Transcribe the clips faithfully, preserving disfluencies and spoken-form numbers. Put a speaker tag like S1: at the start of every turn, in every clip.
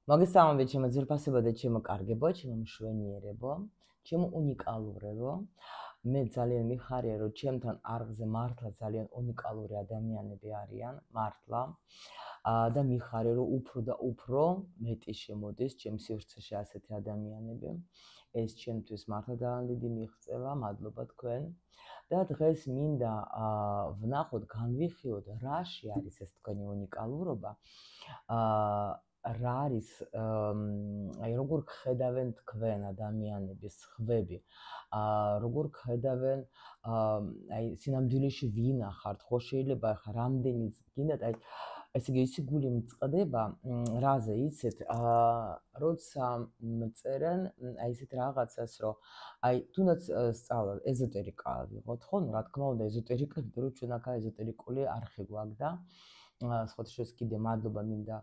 S1: მოგესალმებით ჩემო ძვირფასებო და ჩემო კარგებო, ჩემო მშვენიერებო, ჩემო უნიკალურებო. მე ძალიან მიხარია, რომ ჩემთან არხზე მართლა ძალიან უნიკალური ადამიანები არიან, მართლა. და მიხარია, რომ უფრო და უფრო მეტი შემოდის ჩემ სივრცეში ასეთი ადამიანები. ეს ჩემთვის მართლა ძალიან დიდი მიღწევა, მადლობა თქვენ. და დღეს მინდა ვნახოთ, განვიხილოთ, რაში არის ეს თქვენი უნიკალურობა. აა რა არის აი როგორ ხედავენ თქვენ ადამიანების ხვები აა როგორ ხედავენ აი სინამდვილეში ვინ ახართ ხო შეიძლება ხა რამდენიც გინდათ აი ესე იგი ისი გული მწყდება რაზე იცით აა როცა წერენ აი ესეთ რაღაცას რომ აი თუნდაც სწავლა ეზოტერიკა ვიღოთ ხო რა თქმა უნდა ეზოტერიკა იმიტომ რომ ჩვენ აქ ეზოტერიკული არხი გვაქვს და სხვათა შორის კიდე მადლობა მინდა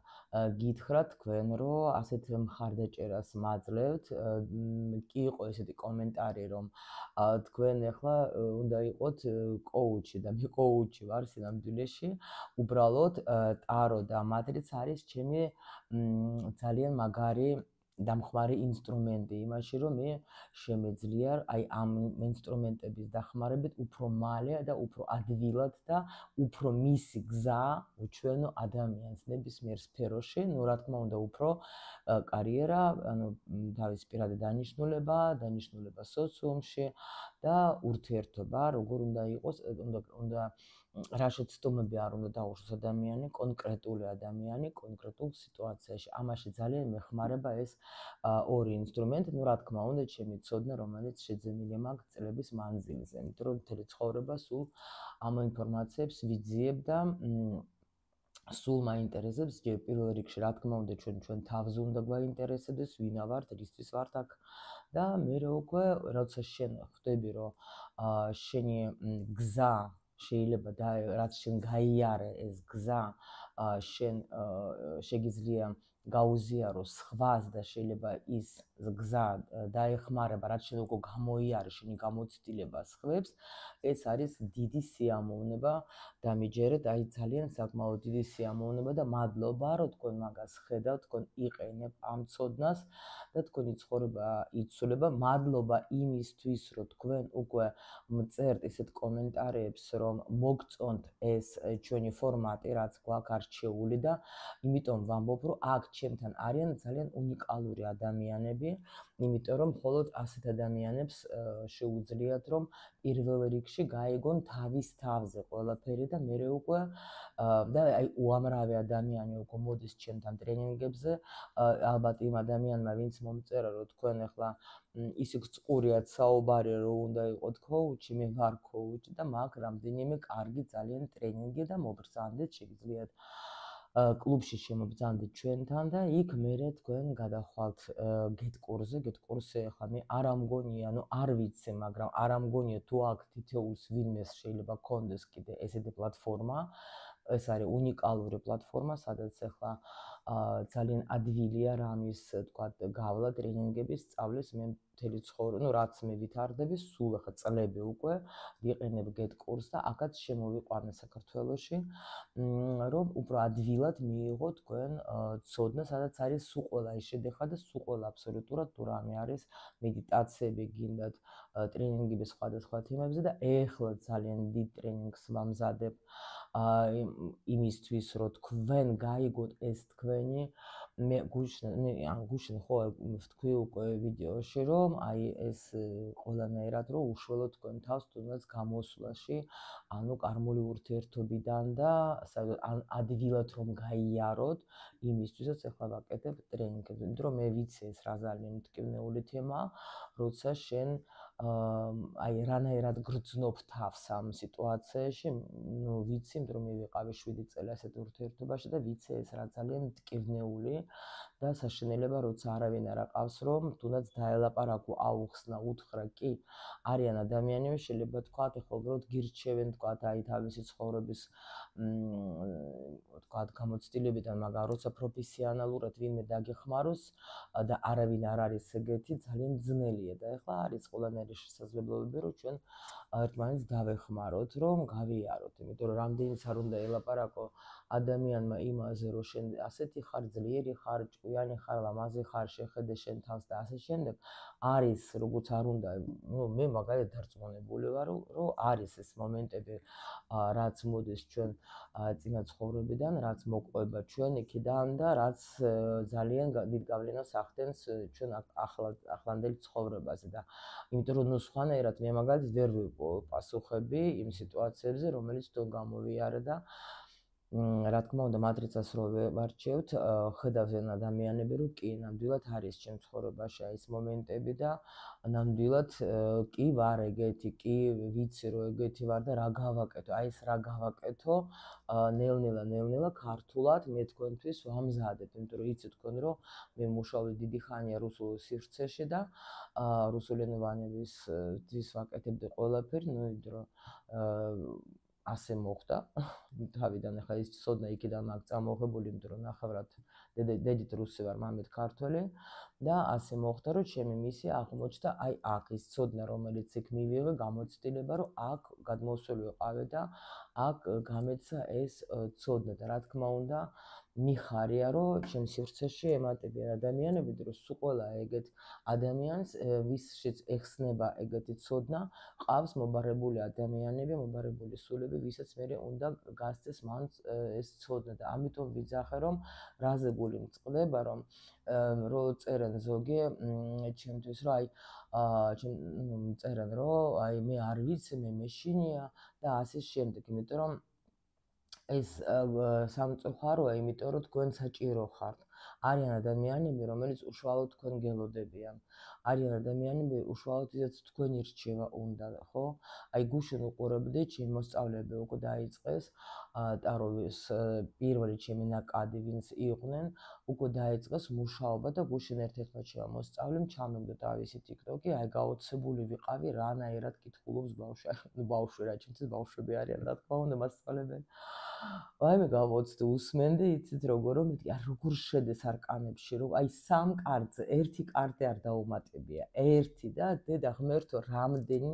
S1: გითხრათ თქვენ რომ ასეთ მხარდაჭერას მაძლევთ კი იყო ესეთი კომენტარი რომ თქვენ ახლა უნდა იყოთ კოუჩი და მე კოუჩი ვარ სინამდვილეში უბრალოდ ტარო და მატრიც არის ჩემი ძალიან მაგარი დამხმარე ინსტრუმენტი იმაში რომ მე შემეძლია აი ამ ინსტრუმენტების დახმარებით უფრო მალე და უფრო ადვილად და უფრო მისი გზა უჩვენო ადამიანს ნებისმიერ სფეროში, ну რა თქმა უნდა უფრო კარიერა, ანუ თავის პირადი დანიშნულება, დანიშნულება სოციუმში და ურთიერთობა, როგორ უნდა იყოს, უნდა უნდა რა შეცდომები არ უნდა დაუშვოს ადამიანი, კონკრეტული ადამიანი, კონკრეტულ სიტუაციაში. ამაში ძალიან მეხმარება ეს ორი ინსტრუმენტი, ну რა თქმა უნდა, ჩემი ცოდნა, რომელიც შეძენილი მაქვს წლების მანძილზე, იმიტომ რომ მთელი ცხოვრება სულ ამ ინფორმაციებს ვიძიებ და სულ მაინტერესებს პირველ რიგში, რა თქმა უნდა, ჩვენ ჩვენ თავზე უნდა გვაინტერესებდეს, ვინა ვართ, რისთვის ვართ აქ და მერე უკვე როცა შენ ხვდები, რომ შენი გზა შეიძლება და რაც შენ გაიარე ეს გზა შენ შეგიძლია გაუზიარო სხვას და შეიძლება ის გზა დაეხმარება რაც შენ უკვე გამოიარე შენი გამოცდილება სხვებს ეს არის დიდი სიამოვნება და მიჯერეთ აი ძალიან საკმაოდ დიდი სიამოვნება და მადლობა რომ თქვენ მაგას ხედავთ თქვენ იყენებთ ამ ცოდნას და თქვენი ცხოვრება იცვლება მადლობა იმისთვის რომ თქვენ უკვე მწერთ ესეთ კომენტარებს რომ მოგწონთ ეს ჩვენი ფორმატი რაც გვაქვს არჩეული და იმიტომ ვამბობ რომ აქ ჩემთან არიან ძალიან უნიკალური ადამიანები იმიტომ რომ მხოლოდ ასეთ ადამიანებს შეუძლიათ რომ პირველ რიგში გაიგონ თავის თავზე ყველაფერი და მერე უკვე და აი უამრავი ადამიანი უკვე მოდის ჩემთან ტრენინგებზე ალბათ იმ ადამიანმა ვინც მომწერა რომ თქვენ ახლა ისე წყურიათ საუბარი რომ უნდა იყოთ კოუჩი მე ვარ კოუჩი და მაქვს რამდენიმე კარგი ძალიან ტრენინგი და მოგბრძანდეთ შეგიძლიათ კლუბში შემობრძანდეთ ჩვენთან და იქ მერე თქვენ გადახვალთ get კურსზე get კურსზე ახლა მე არ ამგონია ანუ არ ვიცი მაგრამ არ ამგონია თუ აქ თითოეულს ვინმეს შეიძლება კონდეს კიდე ესეთი პლატფორმა ეს არის უნიკალური პლატფორმა სადაც ახლა ძალიან ადვილია რამის თქვა გავლა ტრენინგების სწავლის მე მთელი ცხოვრება ну რაც მე ვითარდები სულ ახლა წლები უკვე ვიყენებ get კურსს და აქაც შემოვიყვანე საქართველოში რომ უფრო ადვილად მიიღო თქვენ ცოდნა სადაც არის სულ ყველა ის შედეხა და სულ ყველა აბსოლუტურად თუ რამე არის მედიტაციები გინდათ ტრენინგები სხვადასხვა თემებზე და ეხლა ძალიან დიდ ტრენინგს ვამზადებ იმისთვის რომ თქვენ გაიგოთ ეს თქვენი მე გუშინ ან გუშინ ხო ვთქვი უკვე ვიდეოში რომ აი ეს ყველანაირად რომ უშველოთ თქვენ თავს თუნდაც გამოსვლაში ანუ კარმული ურთიერთობიდან და ადვილად რომ გაიაროთ იმისთვისაც ახლა ვაკეთებ ტრენინგებს იმიტომ რომ მე ვიცი ეს რა ძალიან მტკივნეული თემაა როცა შენ აი რანაირად გრძნობ თავს ამ სიტუაციაში ნუ ვიცი იმიტომ რომ მე ვიყავი შვიდი წელი ასეთ ურთიერთობაში და ვიცი ეს რა ძალიან მტკივნეული და საშინელება როცა არავინ არ აყავს რომ თუნდაც დაელაპარაკო აუხსნა უთხრა კი არიან ადამიანები შეიძლება თქვა ეხლა უბრალოდ გირჩევენ თქვა აი თავისი ცხოვრების თქვა გამოცდილებიდან მაგრამ როცა პროფესიონალურად ვინმე დაგეხმაროს და არავინ არ არის ეგეთი ძალიან ძნელია და ეხლა არის ყველანაირი შესაძლებლობები რომ ჩვენ ერთმანეთს დავეხმაროთ რომ გავიაროთ იმიტომ რომ რამდენიც არ უნდა ელაპარაკო ადამიანმა იმაზე რომ შენ ასეთი ხარ ძლიერი ხარ ჭკვია თავიანთი ხარ, ლამაზი ხარ, შეხედე შენ თავს და ასე შემდეგ, არის როგორც არ უნდა, ნუ მე მაგალითად დარწმუნებული ვარ, რომ არის ეს მომენტები, რაც მოდის ჩვენ წინა ცხოვრებიდან, რაც მოყვება ჩვენ იქიდან და რაც ძალიან დიდ გავლენას ახდენს ჩვენ ახლანდელ ცხოვრებაზე და იმიტომ რომ ნუ სხვანაირად მე მაგალითად ვერ ვიყო პასუხები იმ სიტუაციებზე, რომელიც თვითონ გამოვიარე და რა თქმა უნდა მატრიცას რო ვარჩევთ, ხედავენ ადამიანები, რომ კი, ნამდვილად არის ჩემ ცხოვრებაში ეს მომენტები და ნამდვილად კი ვარ ეგეთი, კი ვიცი რომ ეგეთი ვარ და რა გავაკეთო, აი ეს რა გავაკეთო, ნელ-ნელა, ნელ-ნელა ქართულად მე თქვენთვის ვამზადებ, იმიტომ რომ იცით თქვენ რომ მე მუშაობ დიდი ხანია რუსულ სივრცეში და რუსულენოვანებისთვის ვაკეთებდი ყველაფერი, ნუ იმიტომ რომ ასე მოხდა თავიდან ახლა ის ცოდნა იქიდან მაქვს წამოღებული, იმიტომ რომ ნახევრად დედით რუსი ვარ, მამით ქართველი და ასე მოხდა, რომ ჩემი მისია აღმოჩნდა აი აქ ის ცოდნა, რომელიც იქ მივიღე, გამოცდილება, რომ აქ გადმოსული ვიყავი და აქ გამეცა ეს ცოდნა და რა თქმა უნდა მიხარია, რომ ჩემ სივრცეში ემატებიან ადამიანები, რომ სულ ყველა ეგეთ ადამიანს, ვისშიც ეხსნება ეგეთი ცოდნა, ყავს მობარებული ადამიანები, მობარებული სულები, ვისაც მე უნდა გასცეს მან ეს ცოდნა და ამიტომ ვიძახე, რომ რაზე გული მწყდება, რომ რო წერენ ზოგი ჩემთვის, რომ აი ჩემ წერენ, რომ აი მე არ ვიცი, მე მეშინია და ასე შემდეგ, იმიტომ რომ ეს სამწუხაროა, იმიტომ რომ თქვენ საჭირო ხართ. არიან ადამიანები, რომელიც უშუალოდ თქვენ გელოდებიან. არიან ადამიანები, უშუალოდ ისიც თქვენი რჩევა უნდა, ხო? აი გუშინ უყურებდი, ჩემი მოსწავლეები უკვე დაიწყეს, ტაროვის პირველი ჩემი ნაკადი, ვინც იყვნენ, უკვე დაიწყეს მუშაობა და გუშინ ერთ-ერთმა ჩემმა მოსწავლემ ჩამიგდო თავისი TikTok-ი, აი გაოცებული ვიყავი, რანაირად კითხულობს ბავშვი, ნუ ბავშვი რა, ჩემთვის ბავშვები არიან, რა თქმა უნდა, მასწავლებელი. ვაიმე გავოცდი, უსმენდი, იცით როგორ რომ მეთქი, აი როგორ შედეს არკანებში, რომ აი სამ კარტზე ერთი კარტი არ დაუმატებია, ერთი და დედა ღმერთო, რამდენი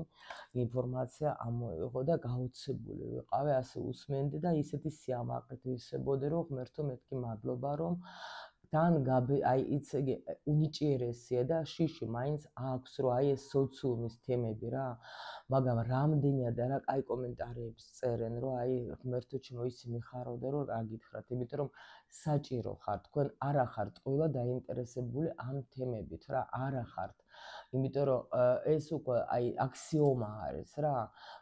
S1: ინფორმაცია ამოიღო და გაოცებული ვიყავი, ასე უსმენდი და ისეთი სიამაყით ვისებოდი, რომ ღმერთო მეთქი მადლობა, რომ თან აი იცი უნიჭიერესია და შიში მაინც აქვს, რომ აი ეს სოციუმის თემები რა, მაგრამ რამდენი არა კაი კომენტარებს წერენ, რომ აი ღმერთო ჩემო ისი მიხარავდა, რომ რა გითხრათ, იმიტომ რომ საჭირო ხართ, თქვენ არა ხართ ყველა დაინტერესებული ამ თემებით რა, არა ხართ. იმიტომ რომ ეს უკვე აი აქსიომა არის რა.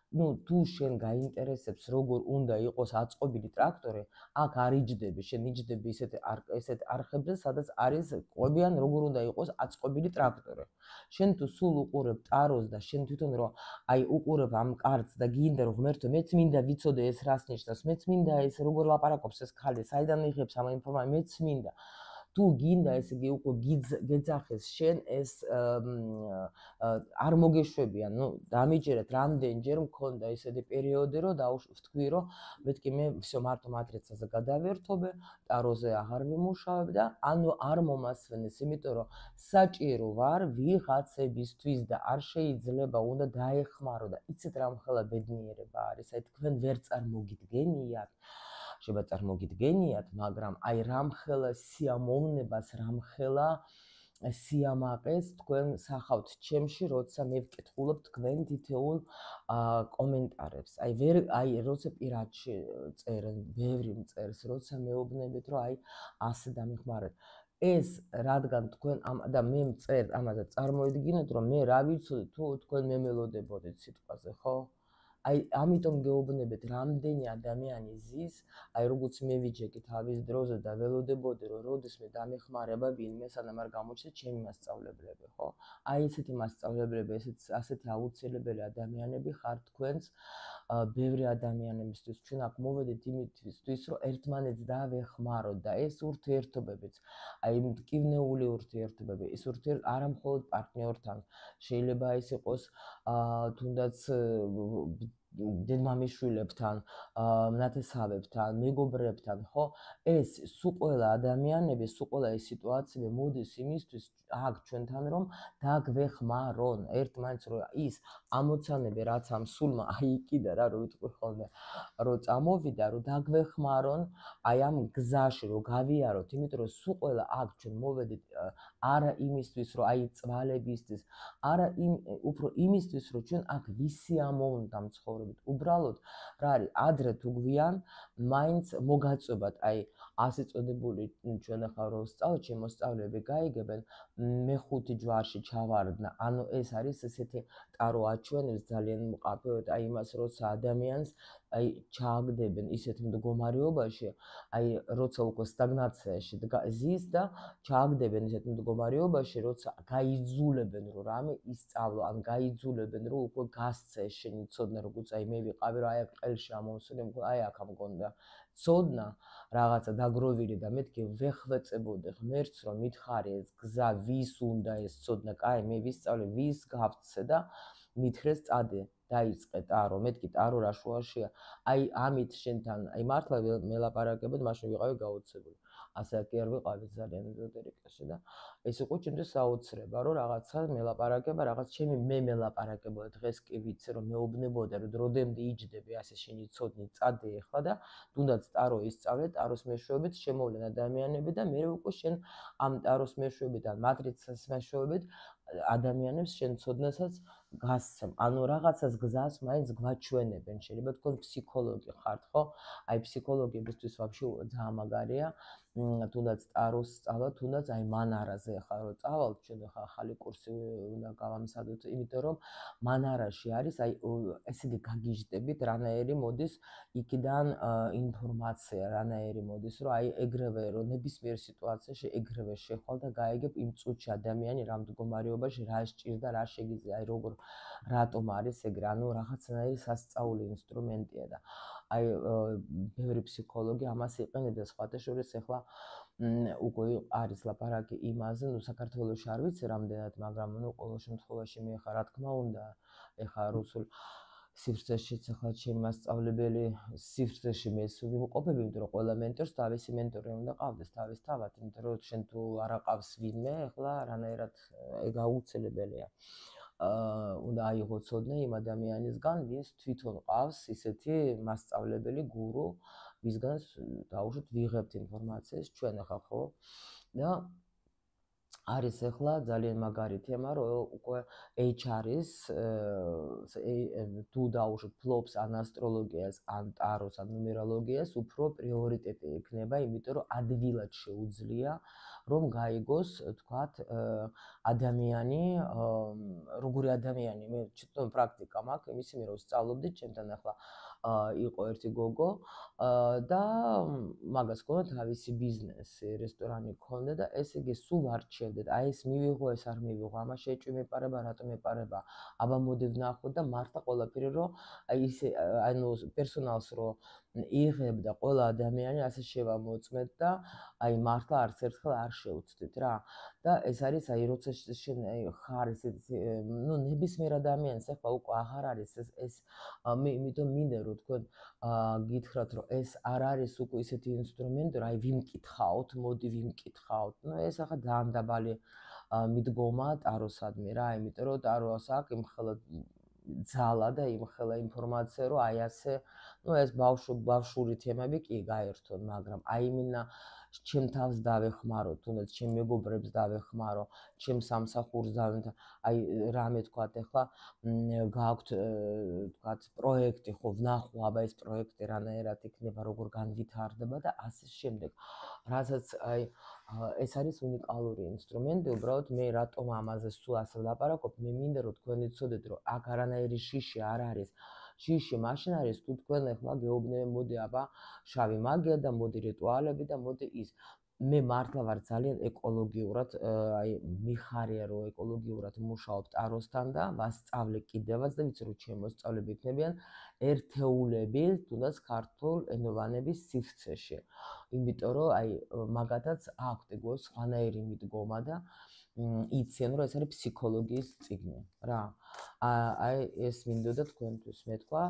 S1: ნუ თუ შენ გაინტერესებს როგორ უნდა იყოს აწყობილი ტრაქტორი, აქ არ იჯდები, შენ იჯდები ისეთ ესეთ არხებზე, სადაც არის ყვებიან როგორ უნდა იყოს აწყობილი ტრაქტორი. შენ თუ სულ უყურებ ტაროს და შენ თვითონ რომ აი უყურებ ამ კარტს და გინდა რომ ღმერთო მეც მინდა ვიცოდე ეს რას ნიშნავს, მეც მინდა ეს როგორ ლაპარაკობს ეს ქალი, საიდან იღებს ამ ინფორმაციას, მეც მინდა. თუ გინდა ესე იგი უკვე გეძახეს შენ ეს არ მოგეშვებიან, ნუ დამიჯერეთ რამდენჯერ მქონდა ესეთი პერიოდი, რომ დავთქვი, რომ მეთქი მე всё მარტო მატრიცაზე გადავერთობე, ტაროზე აღარ ვიმუშავებ და ანუ არ მომასვენეს, იმიტომ რომ საჭირო ვარ ვიღაცებისთვის და არ შეიძლება უნდა დაეხმარო და იცით რა მხელა ბედნიერება არის, აი თქვენ ვერ წარმოგიდგენიათ შეიძლება წარმოგიდგენიათ, მაგრამ აი რამხელა სიამოვნებას, რამხელა სიამაყეს თქვენ სახავთ ჩემში, როცა მე ვკითხულობ თქვენ თითოეულ კომენტარებს. აი ვერ აი როცა პირადში წერენ, ბევრი მწერს, როცა მეუბნებით, რომ აი ასე დამიხმარეთ. ეს რადგან თქვენ და მე მწერ ამაზე წარმოიდგინეთ, რომ მე რა ვიცოდი თუ თქვენ მემელოდებოდეთ სიტყვაზე, ხო? აი ამიტომ გეუბნებით, რამდენი ადამიანი ზის, აი როგორც მე ვიჯექი თავის დროზე და ველოდებოდი, რომ როდესმე დამეხმარება ვინმე, სანამ არ გამოჩნდა ჩემი მასწავლებლები, ხო? აი ესეთი მასწავლებლები, ესეთი ასეთი აუცილებელი ადამიანები ხართ თქვენს ბევრი ადამიანებისთვის. ჩვენ აქ მოვედით იმისთვის, რომ ერთმანეთს დავეხმაროთ და ეს ურთიერთობებიც, აი მტკივნეული ურთიერთობები, ეს ურთიერთობები არა მხოლოდ პარტნიორთან, შეიძლება ეს იყოს თუნდაც დედმამიშვილებთან, ნათესავებთან, მეგობრებთან, ხო? ეს სულ ყველა ადამიანები, სულ ყველა ეს სიტუაციები მოდის იმისთვის აქ ჩვენთან რომ დაგვეხმარონ ერთმანეთს, რომ ის ამოცანები რაც ამ სულმა აი კიდე რა რო ვიტყვი ხოლმე, რომ წამოვიდა, რომ დაგვეხმარონ აი ამ გზაში, რომ გავიაროთ, იმიტომ რომ სულ ყველა აქ ჩვენ მოვედით არა იმისთვის, რომ აი წვალებისთვის, არა იმ უფრო იმისთვის, რომ ჩვენ აქ ვისიამოვნდა მცხოვრებით. უბრალოდ რა არის, ადრე თუ გვიან, მაინც მოგაწვევათ, აი ასე წოდებული ჩვენ ახლა რო ვსწავლოთ, შემოსწავლები გაიგებენ, მეხუთი ჯვარში ჩავარდნა. ანუ ეს არის ესეთი ტარო აჩვენებს ძალიან მყაფებად აი იმას, როცა ადამიანს აი ჩააგდებენ ისეთ მდგომარეობაში, აი როცა უკვე სტაგნაციაში ზის და ჩააგდებენ ისეთ მდგომარეობაში, როცა გაიძულებენ რომ რამე ისწავლო, ან გაიძულებენ რომ უკვე გასცე შენი ცოდნა, როგორც აი მე ვიყავი, რომ აი აქ ყელში ამოვსული, აი აქ ამგონდა ცოდნა რაღაცა დაგროვილი და მეთქი ვეხვეწებოდი ღმერთს, რომ მითხარი ეს გზა ვის უნდა ეს ცოდნა, კაი მე ვისწავლე, ვის გავცე და მითხრეს წადე. დაიწყე ტარო, მეთქი ტარო რა შუაშია. აი ამით შენთან, აი მართლა მელაპარაკებოდ მაშინ ვიყავი გაოცებული. ასე კი არ ვიყავი ძალიან ეზოტერიკაში და ეს იყო ჩემთვის საოცრება, რომ რაღაცა მელაპარაკება, რაღაც ჩემი მე მელაპარაკებოდა დღეს კი ვიცი, რომ მეუბნებოდა, რომ დროდემდე იჯდები ასე შენი ცოდნი, წადე ახლა და თუნდაც ტარო ისწავლე, ტაროს მეშვეობით შემოვლენ ადამიანები და მე უკვე შენ ამ ტაროს მეშვეობით ან მატრიცას მეშვეობით ადამიანებს შენ ცოდნასაც გასცემ. ანუ რაღაცას გზას მაინც გვაჩვენებენ. შეიძლება თქო ფსიქოლოგი ხართ, ხო? აი ფსიქოლოგებისთვის ვაფშე ძალიან მაგარია. თუნდაც ტაროს სწავლა, თუნდაც აი მანარაზე ახლა რო წავალთ, ჩვენ ახლა ახალი კურსი უნდა გავამზადოთ, იმიტომ რომ მანარაში არის აი ესე იგი გაგიჟდებით, რანაირი მოდის იქიდან ინფორმაცია, რანაირი მოდის, რომ აი ეგრევე რომ ნებისმიერ სიტუაციაში ეგრევე შეხვალ და გაიგებ იმ წუთში ადამიანი რა მდგომარეობაში რა სჭირდა, რა შეგიძლია, აი როგორ რატომ არის ეგრე, ანუ რაღაცნაირი სასწაული ინსტრუმენტია და აი ბევრი ფსიქოლოგი ამას იყენებს, სხვათა შორის ახლა უკვე არის ლაპარაკი იმაზე, ნუ საქართველოში არ ვიცი რამდენად, მაგრამ ნუ ყოველ შემთხვევაში მე ხა რა თქმა უნდა, ეხა რუსულ სივრცეშიც ახლა ჩემი მასწავლებელი სივრცეში მე ვიმყოფები, იმიტომ რომ ყველა მენტორს თავისი მენტორი უნდა ყავდეს თავის თავად, იმიტომ რომ შენ თუ არ აყავს ვინმე, ახლა რანაირად ეგ აუცილებელია. უნდა აიღო ცოდნა იმ ადამიანისგან, ვინც თვითონ ყავს ისეთი მასწავლებელი, გურუ, ვისგანაც დაუშვით ვიღებთ ინფორმაციას ჩვენ ახლა ხო და არის ახლა ძალიან მაგარი თემა, რომ უკვე ეიჩ არ-ის თუ დაუშვით ფლობს ან ასტროლოგიას, ან ტაროს, ან ნუმეროლოგიას, უფრო პრიორიტეტი იქნება, იმიტომ რომ ადვილად შეუძლია რომ გაიგოს, თქვათ, ადამიანი, როგორი ადამიანი, მე ჩიტონ პრაქტიკა მაქვს, იმის მე რომ ვსწავლობდი, ჩემთან ახლა იყო ერთი გოგო და მაგას ჰქონდა თავისი ბიზნესი, რესტორანი ჰქონდა და ესე იგი სულ არჩევდეთ, აი ეს მივიღო, ეს არ მივიღო, ამას შეჭვი მეპარება, რატომ მეპარება, აბა მოდი ვნახოთ და მართლა ყველაფერი რომ აი ისე ანუ პერსონალს რომ იღებდა ყველა ადამიანი ასე შევამოწმეთ და აი მართლა არც ერთხელ არ შევცდით რა. და ეს არის აი როცა შენ ხარ ესეთი ნუ ნებისმიერ ადამიანს ახლა უკვე აღარ არის ეს ეს მე იმიტომ მინდა რომ თქვენ გითხრათ რომ ეს არ არის უკვე ისეთი ინსტრუმენტი რომ აი ვიმკითხაოთ, მოდი ვიმკითხაოთ. ნუ ეს ახლა ძალიან დაბალი მიდგომა ტაროსადმი რა, იმიტომ რომ ტაროს აქვს იმხელა ძალა და იმხელა ინფორმაცია რომ აი ასე ნუ ეს ბავშვური თემები კი გაერთონ, მაგრამ აი მინა ჩემ თავს დავეხმარო, თუნდაც ჩემ მეგობრებს დავეხმარო, ჩემ სამსახურს დავეხმარო, აი რამე თქვათ ახლა გააქვთ თქვათ პროექტი, ხო ვნახო, აბა ეს პროექტი რანაირად იქნება, როგორ განვითარდება და ასე შემდეგ. რასაც აი ეს არის უნიკალური ინსტრუმენტი, უბრალოდ მე რატომ ამაზე სულ ასე ვლაპარაკობ, მე მინდა რომ თქვენ იცოდეთ, რომ აქ არანაირი შიში არ არის. შიში მაშინ არის თუ თქვენ ახლა გეუბნები, მოდი აბა შავი მაგია და მოდი რიტუალები და მოდი ის. მე მართლა ვარ ძალიან ეკოლოგიურად, აი მიხარია რომ ეკოლოგიურად მუშაობ ტაროსთან და ვასწავლე კიდევაც და ვიცი რომ ჩემი მოსწავლეები იქნებიან ერთეულები თუნდაც ქართულ ენოვანების სივრცეში. იმიტომ რომ აი მაგათაც აქვთ ეგ სხვანაირი მიდგომა და იციან რომ ეს არის ფსიქოლოგიის წიგნი რა. აი ეს მინდოდა თქვენთვის მეთქვა.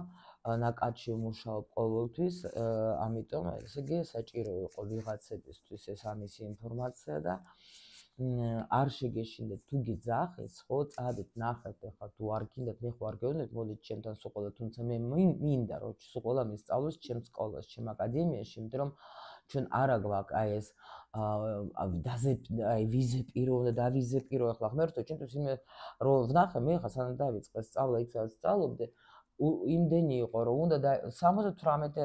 S1: ნაკადში ვმუშაობ ყოველთვის, ამიტომ ესე იგი საჭირო იყო ვიღაცებისთვის ეს ამისი ინფორმაცია და არ შეგეშინდეთ თუ გიძახეს, ხო, წადით ნახეთ ახლა თუ არ გინდათ, მე ხო არ გეუბნებით, მოდით ჩემთან სკოლა, თუმცა მე მინდა რომ სკოლა მისწავლოს ჩემ სკოლაში, ჩემ აკადემიაში, იმიტომ რომ ჩვენ არა გვაქვს აი ეს დაზე აი ვიზე პირო და დავიზე პირო ახლა ღმერთო ჩვენთვის იმე რომ ვნახე მე ხა სანამ დავიწყე სწავლა იქ სადაც სწავლობდი იმდენი იყო რომ უნდა სამოცდათვრამეტი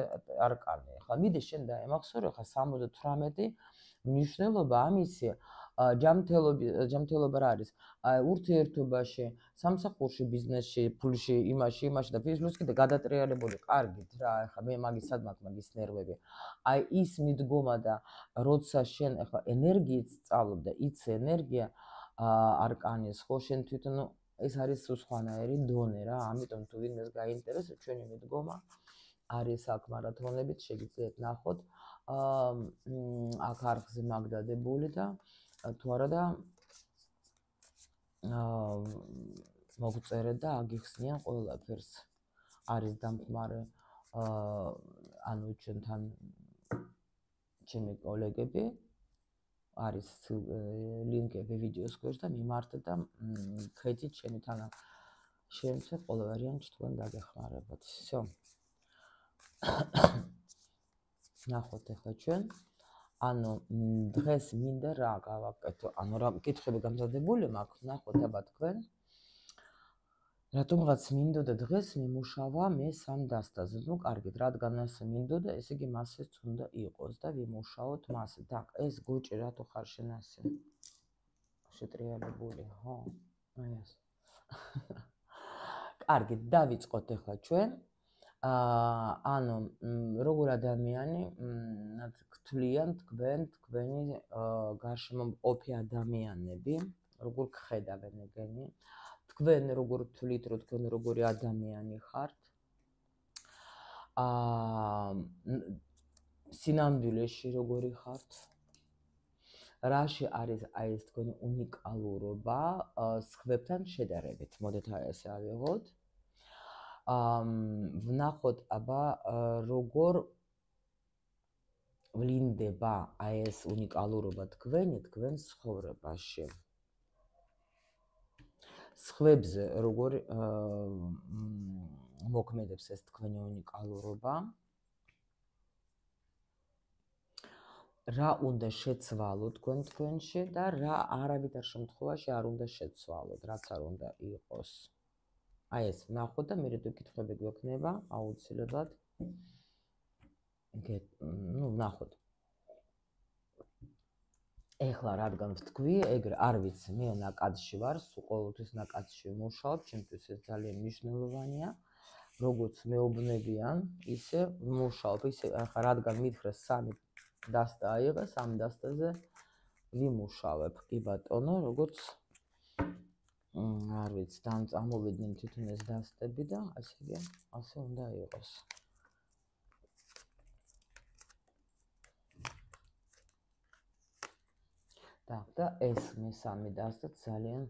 S1: არკანი ახლა მიდი შენ დაემახსოვრე ხა სამოცდათვრამეტი მნიშვნელობა ამისი ჯანმრთელობა ჯანმრთელობა რა არის აი ურთიერთობაში სამსახურში ბიზნესში ფულში იმაში იმაში და ფიზიკურ კიდე გადატრიალებული კარგით რა ახლა მე მაგის სადმაკ მაგის ნერვები აი ის მიდგომა და როცა შენ ახლა ენერგიით სწავლობ და იცი ენერგია არკანის ხო შენ თვითონ ეს არის სხვანაირი დონე რა ამიტომ თუ ვინმეს გაინტერესებს ჩვენი მიდგომა არის აქ მარათონებით შეგიძლიათ ნახოთ აქ არხზე მაგდადებული და თუ არა და მოგწერეთ და აგიხსნიან ყველაფერს არის დამხმარე ანუ ჩვენთან ჩემი კოლეგები არის ლინკები ვიდეოს ქვეშ და მიმართეთ და ხედით ჩემი თანა შემცე ყველა ვარიანტი თქვენ დაგეხმარებათ. всё. ნახოთ ახლა ჩვენ ანუ დღეს მინდა რა გავაკეთო, ანუ რა კითხები გამზადებული მაქვს, ნახოთ აბა თქვენ. რატომღაც მინდოდა დღეს მიმუშავა მე სამ დასტაზე. ნუ კარგით, რადგან ასე მინდოდა, ესე იგი მასეც უნდა იყოს და ვიმუშაოთ მასე. დაკ, ეს გოჭი რატო ხარ შენ ასე? შეტრიალებული, ხო? აი ეს. კარგით, დავიწყოთ ახლა ჩვენ. აა ანუ როგორ ადამიანი გთვლიან თქვენ თქვენი გარშემო მყოფი ადამიანები, როგორ გხედავენ ეგენი? თქვენ როგორ თვლით, რომ თქვენ როგორი ადამიანი ხართ? აა სინამდვილეში როგორი ხართ? რაში არის აი ეს თქვენი უნიკალურობა სხვებთან შედარებით? მოდით აი ესე ავიღოთ. აა ვნახოთ აბა როგორ ვლინდება აი ეს უნიკალურობა თქვენი თქვენ ცხოვრებაში. სხვებზე როგორ მოქმედებს ეს თქვენი უნიკალურობა? რა უნდა შეცვალოთ თქვენ თქვენში და რა არავითარ შემთხვევაში არ უნდა შეცვალოთ, რაც არ უნდა იყოს. აი ეს ვნახოთ და მერე თუ კითხვები გვექნება, აუცილებლად ნუ ვნახოთ. ეხლა რადგან ვთქვი, ეგრე არ ვიცი, მე ნაკადში ვარ, სულ ყოველთვის ნაკადში ვმუშაობ, ჩემთვის ეს ძალიან მნიშვნელოვანია. როგორც მეუბნებიან, ისე ვმუშაობ, ისე ახლა რადგან მითხრეს სამი დასტა აიღე, სამ დასტაზე ვიმუშავებ, კი ბატონო, როგორც არ ვიცი, დამწამოვიდნენ თვითონ ეს დასტები და ასე იგი, ასე უნდა იყოს. Так, და ეს მესამე დასტა ძალიან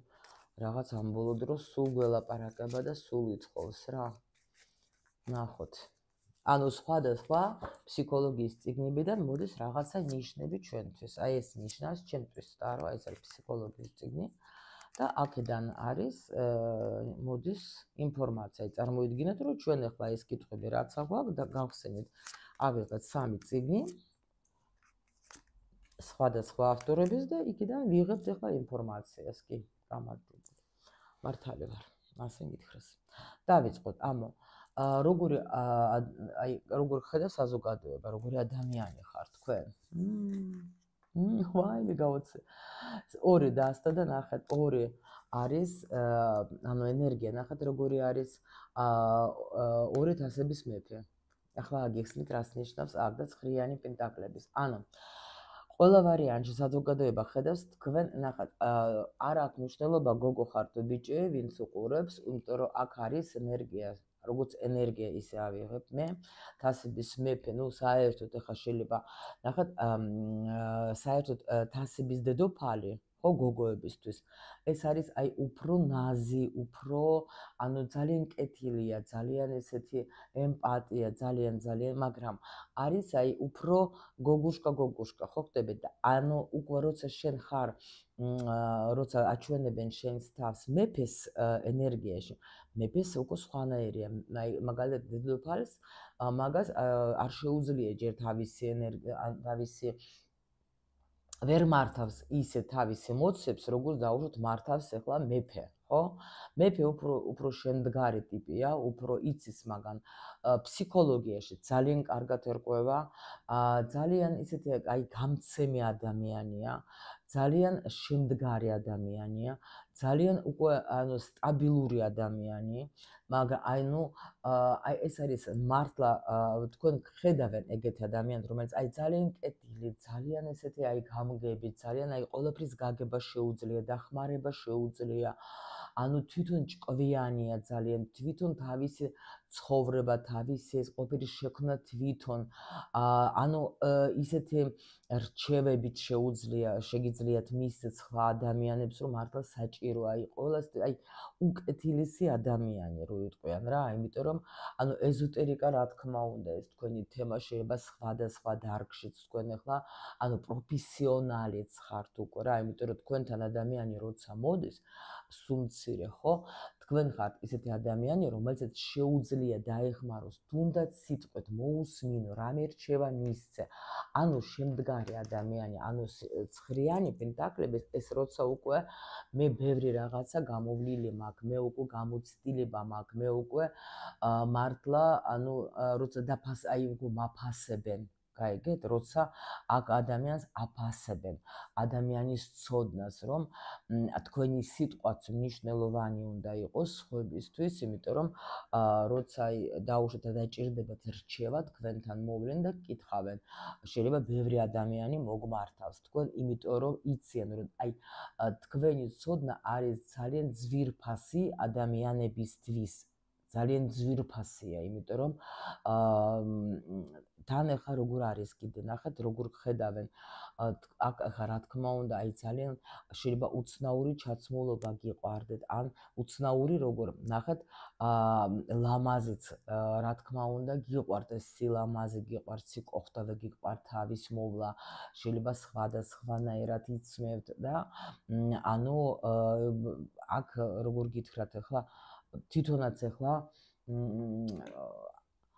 S1: რაღაც ამ ბოლო დროს სულ გველაპარაკება და სულ ითხოვს რა. ნახოთ. ანუ სხვადასხვა ფსიქოლოგიის წიგნებიდან მოდის რაღაცა ნიშნები ჩვენთვის. აი ეს ნიშნავს ჩვენთვის და რა, ეს არის ფსიქოლოგიის წიგნი და აქედან არის მოდის ინფორმაცია. წარმოიდგინეთ, რომ ჩვენ ახლა ეს კითხვები რაც აგვაქვს და გავხსენით ავიღეთ სამი წიგნი სხვადასხვა ავტორების და იქიდან ვიღებთ ახლა ინფორმაციას, კი, გამარჯობა. მართალი ვარ, ასე მითხრეს. დავიწყოთ, ამო როგორი აი როგორ ხედავ საზოგადოება, როგორი ადამიანი ხარ თქვენ? მმ, ვაი, მიგავოცე. ორი დასტა და ნახეთ, ორი არის ანუ ენერგია, ნახეთ როგორი არის ორი თასების მეფე. ახლა აგიხსნით რას ნიშნავს აქ და ცხრიანი პენტაკლების. ანუ ყველა ვარიანტში საზოგადოება ხედავს თქვენ ნახat არ აქვს მნიშვნელობა გოგო ხართ თუ ბიჭი ვინც უყურებს იმიტომ რომ აქ არის ენერგია როგორც ენერგია ისე ავიღებ მე თასების მეფე ნუ საერთოდ ახლა შეიძლება ნახat საერთოდ თასების დედოფალი ხო გოგოებისთვის ეს არის აი უფრო ნაზი უფრო ანუ ძალიან კეთილია ძალიან ესეთი ემპათია ძალიან ძალიან მაგრამ არის აი უფრო გოგუშკა გოგუშკა ხო ხდები და ანუ უკვე როცა შენ ხარ როცა აჩვენებენ შენს თავს მეფეს ენერგიაში მეფეს უკვე სხვანაირია აი მაგალითად დედოფალს მაგას არ შეუძლია ჯერ თავისი ენერგია თავისი ვერ მართავს ისე თავის ემოციებს როგორც დაუშვათ მართავს ახლა მეფე ხო მეფე უფრო უფრო შემდგარი ტიპია უფრო იცის მაგან ფსიქოლოგიაში ძალიან კარგად ერკვევა ძალიან ისეთი აი გამცემი ადამიანია ძალიან შემდგარი ადამიანია ძალიან უკვე ანუ სტაბილური ადამიანი მაგრამ აი ნუ აი ეს არის მართლა თქვენ ხედავენ ეგეთი ადამიანს რომელიც აი ძალიან კეთილი ძალიან ესეთი აი გამგები ძალიან აი ყველაფრის გაგება შეუძლია დახმარება შეუძლია ანუ თვითონ ჭკვიანია ძალიან თვითონ თავისი ცხოვრება თავისი ეს ყოფილი შექმნა თვითონ ანუ ისეთი რჩევებით შეუძლია შეგიძლიათ მის სხვა ადამიანებს რომ მართლა საჭიროა აი ყოველას აი უკეთილესი ადამიანი რო იტყვიან რა იმიტომ რომ ანუ ეზოტერიკა რა თქმა უნდა ეს თქვენი თემა შეიძლება სხვადასხვა დარგშიც თქვენ ახლა ანუ პროფესიონალიც ხართ უკვე რა იმიტომ რომ თქვენთან ადამიანი როცა მოდის სუმცირე ხო თქვენ ხართ ისეთი ადამიანი რომელსაც შეუძლია დაეხმაროს თუნდაც სიტყვით მოусმინო რამე რჩევა მისცე ანუ შემდგარი ადამიანი ანუ ცხრიანი პენტაკლების ეს როცა უკვე მე ბევრი რაღაცა გამოვლილი მაქვს მე უკვე გამოცდილება მაქვს მე უკვე მართლა ანუ როცა დაფას აი უკვე მაფასებენ გაიგეთ როცა აქ ადამიანს აფასებენ ადამიანის ცოდნას რომ თქვენი სიტყვაც მნიშვნელოვანი უნდა იყოს სხვებისთვის იმიტომ რომ როცა დაუშვათ დაჭირდებათ რჩევა თქვენთან მოვლენ და კითხავენ შეიძლება ბევრი ადამიანი მოგმართავს თქვენ იმიტომ რომ იციან რომ აი თქვენი ცოდნა არის ძალიან ძვირფასი ადამიანებისთვის ძალიან ძვირფასია იმიტომ რომ თან ახლა როგორ არის კიდე ნახეთ როგორ ხედავენ აქ ახლა რა თქმა უნდა აი ძალიან შეიძლება უცნაური ჩაცმულობა გიყვარდეთ ან უცნაური როგორ ნახეთ ლამაზიც რა თქმა უნდა გიყვართ ეს სილამაზე გიყვართ სიკოხტავე გიყვართ თავის მოვლა შეიძლება სხვადასხვანაირად იცმევთ და ანუ აქ როგორ გითხრათ ახლა თვითონაც ახლა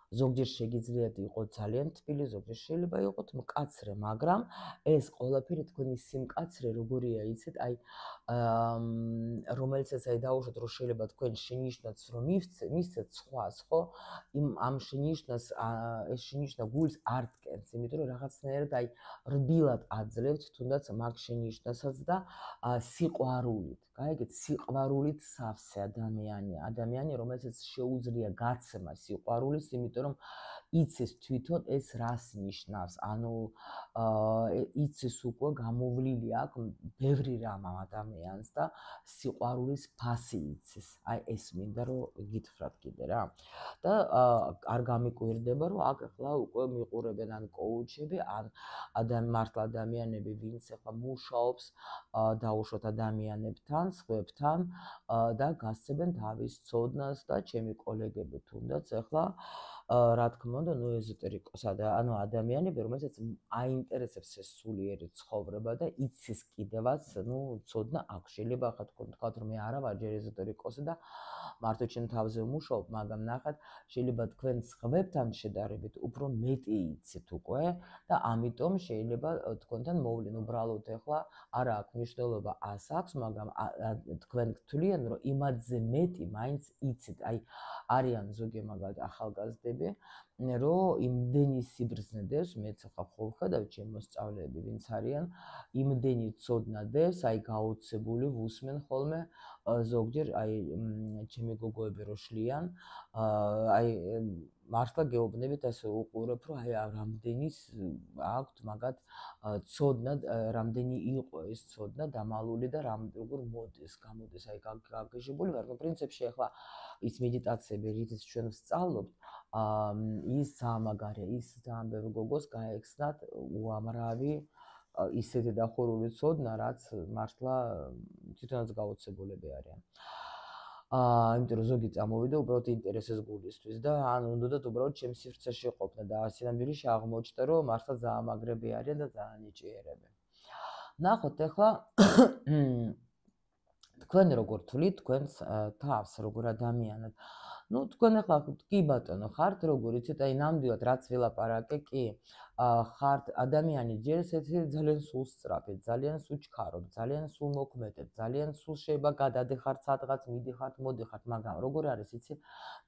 S1: ზოგჯერ შეგიძლიათ იყოს ძალიან თბილი, ზოგჯერ შეიძლება იყოს მკაცრე, მაგრამ ეს ყველაფერი თქვენი სიმკაცრე როგორია, იცით, აი რომელიცაც აი დაუშვათ, რომ შეიძლება თქვენ შენიშნაც რომ მისცეთ სხვას, ხო? იმ ამ შენიშნას ეს შენიშნა გულს არ დგენს, იმიტომ რომ რაღაცნაირად აი რბილად აძლევთ თუნდაც მაგ შენიშნასაც და სიყვარულით, გაიგეთ, სიყვარულით სავსე ადამიანია, ადამიანი, რომელსაც შეუძლია გაცემა სიყვარულის, იმიტომ რომ იცის თვითონ ეს რას ნიშნავს, ანუ იცის უკვე გამოვლილი აქვს ბევრი რამ ამ ადამიანს და სიყვარულის ფასი იცის. აი ეს მინდა რომ გითხრათ კიდე რა. და არ გამიკვირდება რომ აქ ახლა უკვე მიყურებენ ან კოუჩები, ან მართლა ადამიანები, ვინც ახლა მუშაობს დაუშვათ ადამიანებთან, სხვებთან და გასცემენ თავის ცოდნას და ჩემი კოლეგები თუნდაც ახლა რა თქმა უნდა, ნუ ეზოტერიკოსა და ანუ ადამიანები, რომელსაც აინტერესებს ეს სულიერი ცხოვრება და იცის კიდევაც, ნუ ცოდნა აქვს. შეიძლება ახლა თქვენ თქვათ, რომ მე არა ვარ ჯერ ეზოტერიკოსი და მარტო ჩემ თავზე ვმუშაობ, მაგრამ ნახეთ, შეიძლება თქვენ სხვებთან შედარებით უფრო მეტი იცით უკვე და ამიტომ შეიძლება თქვენთან მოვლენ უბრალოდ ახლა არა აქვს მნიშვნელობა ას აქვს, მაგრამ თქვენ გთვლიან, რომ იმათზე მეტი მაინც იცით. აი არიან ზოგი მაგალითად ახალგაზრდები, რომ იმდენი სიბრძნე დევს, მეც ახლა ხოლმე ხედავ ჩემ მოსწავლეები, ვინც არიან, იმდენი ცოდნა დევს, აი გაოცებული ვუსმენ ხოლმე ზოგჯერ აი ჩემი გოგოები რო შლიან, აი მართლა გეუბნებით ასე უყურებ, რომ აი რამდენი აქვთ მაგათ ცოდნა, რამდენი იყო ეს ცოდნა დამალული და რამ როგორ მოდის, გამოდის აი გაგეჟებული ვარ. ნუ პრინციპში ახლა ის მედიტაციები, რითიც ჩვენ ვსწავლობთ, ის ძალიან მაგარია, ის ძალიან ბევრ გოგოს გაექცნათ უამრავი ისეთი დახურული ცოდნა, რაც მართლა თვითონაც გაოცებულები არიან. აა, იმიტომ რომ ზოგი წამოვიდა უბრალოდ ინტერესის გულისთვის და ან უნდათ უბრალოდ ჩემს სივრცეში ყოფნა და სინამდვილეში აღმოჩნდა, რომ მართლა ძალიან მაგრები არიან და ძალიან ნიჭიერები. ნახოთ ახლა თქვენ როგორ თვლით თქვენს თავს, როგორ ადამიანად. ნუ თქვენ ახლა კი ბატონო ხართ, როგორ იცით, აი ნამდვილად რაც ვილაპარაკე, კი ხართ ადამიანი ჯერ ესეთი ძალიან სულსწრაფი, ძალიან სუჩქარო, ძალიან სულმოქმედი, ძალიან სულ შეიძლება გადადეხართ სადღაც, მიდიხართ, მოდიხართ, მაგრამ როგორ არის იცი,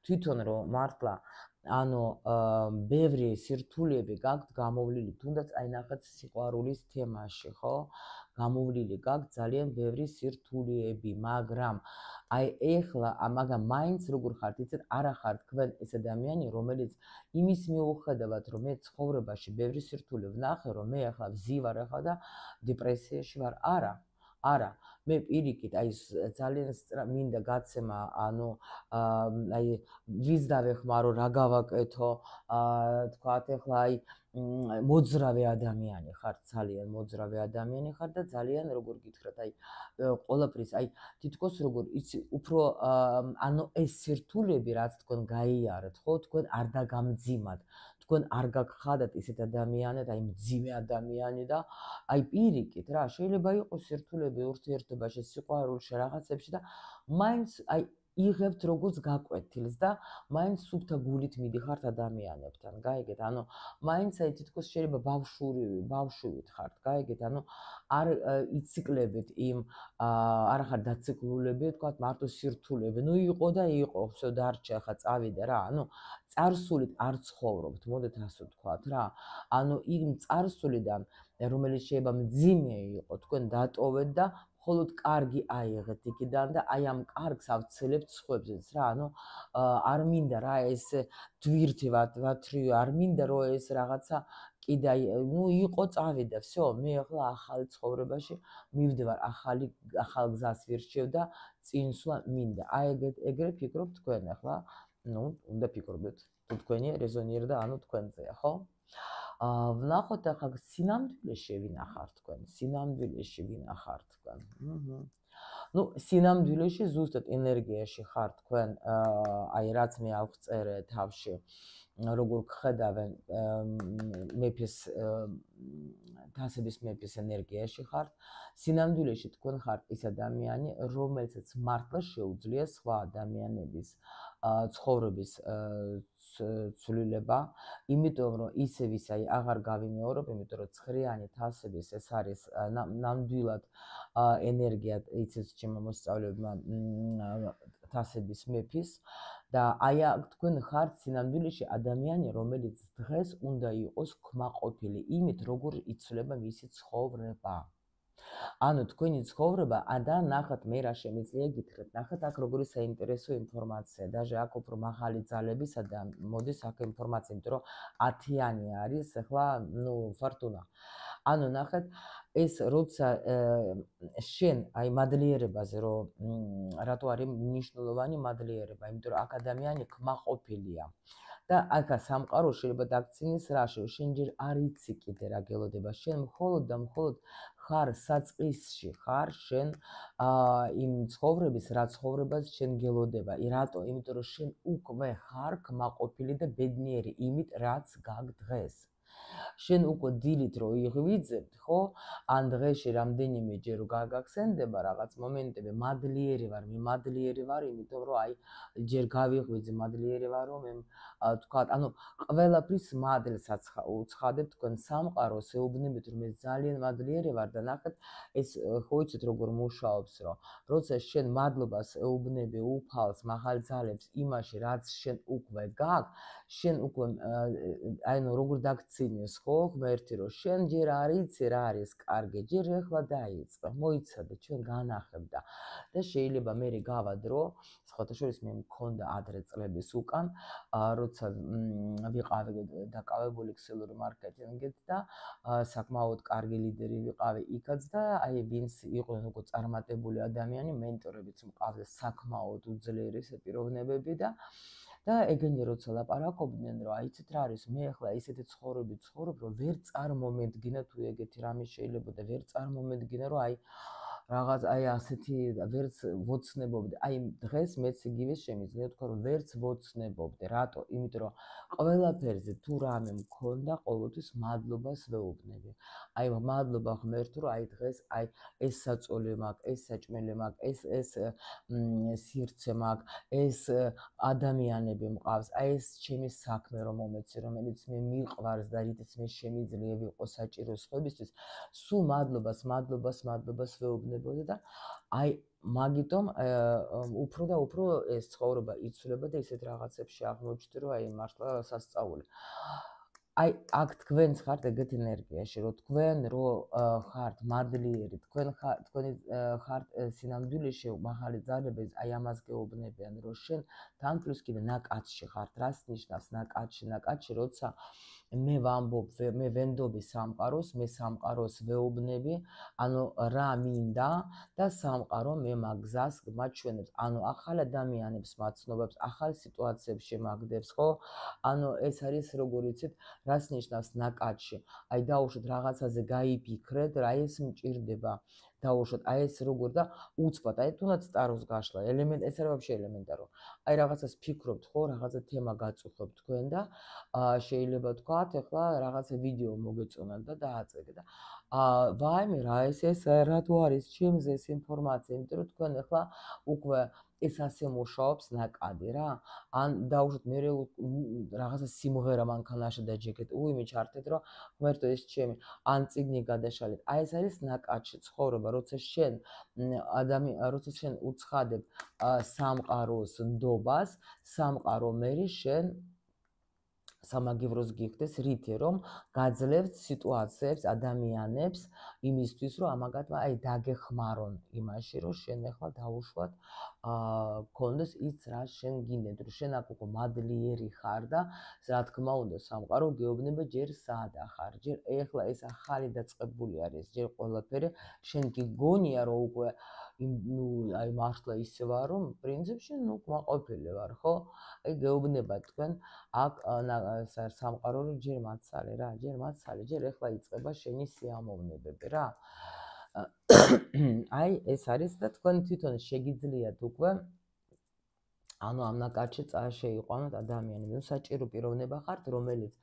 S1: თვითონ რომ მართლა ანუ ბევრი სირთულეები გაქვთ გამოვლილი, თუნდაც აი ნახეთ სიყვარულის თემაში, ხო? გამოვლილი გაქვთ ძალიან ბევრი სირთულეები, მაგრამ აი ეხლა მაგრამ მაინც როგორ ხართ იცით, არა ხართ თქვენ ეს ადამიანი, რომელიც იმის მიუხედავად რომ მე ცხოვრებაში ბევრი სირთულე ვნახე, რომ მე ახლა ვზივარ ახლა და დეპრესიაში ვარ, არა, არა, მე პირიქით აი ძალიან მინდა გაცემა, ანუ აი ვის დავეხმარო, რა გავაკეთო, თქვათ ახლა აი მოძრავი ადამიანი ხარ, ძალიან მოძრავი ადამიანი ხარ და ძალიან როგორ გითხრათ, აი ყველაფრის, აი თითქოს როგორ იცი, უფრო ანუ ეს სირთულეები რაც თქვენ გაიარეთ, ხო, თქვენ არ დაგამძიმათ, თქვენ არ გაგხადათ ისეთ ადამიანად, აი მძიმე ადამიანი და აი პირიქით რა, შეიძლება იყოს სირთულეები ურთიერთობაში, სიყვარულში, რაღაცებში და მაინც აი იღებთ როგორც გაკვეთილს და მაინც სუფთა გულით მიდიხართ ადამიანებთან, გაიგეთ? ანუ მაინც აი თითქოს შეიძლება ბავშვური, ბავშვივით ხართ, გაიგეთ? ანუ არ იციკლებით იმ არ ხარ დაციკლულები, თქვათ მარტო სირთულეები. ნუ იყო და იყო, всё დარჩა, ახლა წავიდა რა. ანუ წარსულით არ ცხოვრობთ, მოდით ასე ვთქვათ რა. ანუ იმ წარსულიდან, რომელიც შეიძლება მძიმე იყო, თქვენ დატოვეთ და მხოლოდ კარგი აიღეთ იქიდან და აი ამ კარგს ავცელებთ სხვებზეც რა, ანუ არ მინდა რა ეს დვირთი ვათრივი, არ მინდა რომ ეს რაღაცა კიდე აი ნუ იყო წავიდა, всё, მე ახლა ახალ ცხოვრებაში მივდივარ, ახალი ახალ გზას ვირჩევ და წინ სვლა მინდა. აი ეგრე ფიქრობთ თქვენ ახლა, ნუ უნდა ფიქრობთ, თუ თქვენი რეზონირდა, ანუ თქვენზეა, ხო? აა ვნახოთ ახლა სინამდვილეში ვინახართ თქვენ, სინამდვილეში ვინახართ თქვენ. აჰა. ნუ სინამდვილეში ზუსტად ენერგიაში ხართ თქვენ, აი რაც მე ავწერე თავში, როგორ გხედავენ მეფის თასების მეფის ენერგიაში ხართ, სინამდვილეში თქვენ ხართ ის ადამიანი, რომელსაც მართლა შეუძლია სხვა ადამიანების ცხოვრების ცვლილება, იმიტომ რომ ისევ ის აი აღარ გავიმეორებ, იმიტომ რომ ცხრიანი თასების ეს არის ნამდვილად ენერგია, იცით ჩემო მოსწავლეებმა თასების მეფის და აი თქვენ ხართ სინამდვილეში ადამიანი, რომელიც დღეს უნდა იყოს კმაყოფილი იმით, როგორ იცვლება მისი ცხოვრება. ანუ თქვენი ცხოვრება და ნახეთ მე რა შემიძლია გითხრათ, ნახეთ აქ როგორი საინტერესო ინფორმაცია, даже აქ უფრო მაღალი ძალებისა და მოდის აქ ინფორმაცია, იმიტომ რომ ათიანი არის ახლა, ნუ ფორტუნა. ანუ ნახეთ ეს როცა შენ აი მადლიერებაზე რომ რატო არის მნიშვნელოვანი მადლიერება, იმიტომ რომ აქ ადამიანი კმაყოფილია. და აქა სამყარო შეიძლება დაგცინის რაში, შენ ჯერ არ იცი კიდე რა გელოდება, შენ მხოლოდ და მხოლოდ ხარ საწყისში, ხარ შენ იმ ცხოვრების, რა ცხოვრებას შენ გელოდება. რატო? იმიტომ რომ შენ უკვე ხარ კმაყოფილი და ბედნიერი იმით, რაც გაქვს დღეს. შენ უკვე დილით რო იღვიძებთ, ხო? ან დღეში რამდენიმე ჯერ გაგახსენდება რაღაც მომენტები, მადლიერი ვარ, მე მადლიერი ვარ, იმიტომ რომ აი ჯერ გავიღვიძე, მადლიერი ვარ, რომ მე თქვა, ანუ ყველაფრის მადლსაც უცხადებ თქვენ სამყაროს, ეუბნებით რომ მე ძალიან მადლიერი ვარ და ნახეთ ეს ხო იცით როგორ მუშაობს, რომ როცა შენ მადლობას ეუბნები უფალს, მაღალ ძალებს იმაში, რაც შენ უკვე გაქვს, შენ უკვე აი ნუ როგორ დაგცი გახსინეს ხო ღმერთი რომ შენ ჯერ არ იცი რა არის კარგი ჯერ ეხლა დაიწყე მოიცადე ჩვენ განახებდა და შეიძლება მე გავადრო სხვათა შორის მე მქონდა ადრე წლების უკან როცა ვიყავი დაკავებული ქსელური მარკეტინგით და საკმაოდ კარგი ლიდერი ვიყავი იქაც და აი ვინც იყვნენ უკვე წარმატებული ადამიანი მენტორებიც მყავდა საკმაოდ უძლიერესი პიროვნებები და და ეგენი როცა ლაპარაკობდნენ რომ აიცით რა არის მე ახლა ისეთი ცხოვრები ცხოვრობ რომ ვერ წარმომედგინა თუ ეგეთი რამე შეიძლება და ვერ წარმომედგინა რომ აი რაღაც აი ასეთი ვერც ვოცნებობდი აი დღეს მეც იგივე შემიძლია თქვა რომ ვერც ვოცნებობდი რატო იმიტომ რომ ყველაფერზე თუ რამე მქონდა ყოველთვის მადლობას ვეუბნები აი მადლობა ღმერთო რომ აი დღეს აი ეს საწოლი მაქვს ეს საჭმელი მაქვს ეს ეს სივრცე მაქვს ეს ადამიანები მყავს აი ეს ჩემი საქმე რომ მომეცი რომელიც მე მიყვარს და რითიც მე შემიძლია ვიყო საჭირო სხვებისთვის სულ მადლობას მადლობას მადლობას ვეუბნებოდი და აი მაგიტომ უფრო და უფრო ეს ცხოვრება იცვლება და ისეთ რაღაცებში აღმოჩნდი რომ აი მართლა სასწაული აი აქ თქვენც ხართ ეგეთ ენერგიაში რომ თქვენ რო ხართ მადლიერი თქვენ თქვენი ხართ სინამდვილეში მაღალი ძალები აი ამას გეუბნებიან რომ შენ თან პლუს კიდე ნაკადში ხართ რას ნიშნავს ნაკადში ნაკადში როცა მე ვამბობ მე ვენდობი სამყაროს მე სამყაროს ვეუბნები ანუ რა მინდა და სამყარო მე მაგზას მაჩვენებს ანუ ახალ ადამიანებს მაცნობებს ახალ სიტუაციებს შემაგდებს ხო ანუ ეს არის როგორ იცით რას ნიშნავს ნაკადში აი დაუშვათ რაღაცაზე გაიფიქრეთ რა ეს მჭირდება დაუშვათ აი ეს როგორ და უცბად აი თუნდაც წაროს გაშლა ელემენტ ეს არის вообще ელემენტარო აი რაღაცას ფიქრობთ ხო რაღაცა თემა გაწუხებთ თქვენ და შეიძლება თქვათ ეხლა რაღაცა ვიდეო მოგეწონათ და დააწეგეთ და აა ვაიმე რა ეს ეს რა თუ არის ჩემზე ეს ინფორმაცია იმიტომ რომ თქვენ ეხლა უკვე ეს ასე მუშაობს ნაკადი რა ან დაუშვათ მე რაღაცა სიმღერა მანქანაში დაჯეკეთ უიმე ჩართეთ რომ ღმერთო ეს ჩემი ან წიგნი გადაშალეთ აი ეს არის ნაკადში ცხოვრება როცა შენ ადამიან როცა შენ უცხადებ სამყაროს ნდობას სამყარო მე შენ სამაგევროს გიხდეს რითი რომ გაძლევთ სიტუაციებს ადამიანებს იმისთვის რომ ამაგათმა აი დაგეხმარონ იმაში რომ შენ ახლა დაუშვათ აა გქონდეს ის რა შენ გინდეთ რომ შენ აქ უკვე მადლიერი ხარ და რა თქმა უნდა სამყარო გეუბნება ჯერ საადა ხარ ჯერ ახლა ეს ახალი დაწყებული არის ჯერ ყველაფერი შენ გიგონია რომ უკვე ნუ აი მართლა ისე ვარ რომ პრინციპში ნუ კმაყოფილი ვარ ხო აი გეუბნება თქვენ აქ სამყარო რომ ჯერ მაცალე რა ჯერ მაცალე ჯერ ახლა იწყება შენი სიამოვნებები რა აი ეს არის და თქვენ თვითონ შეგიძლიათ უკვე ანუ ამ ნაკადში წაშეიყვანოთ ადამიანი ნუ საჭირო პიროვნება ხართ რომელიც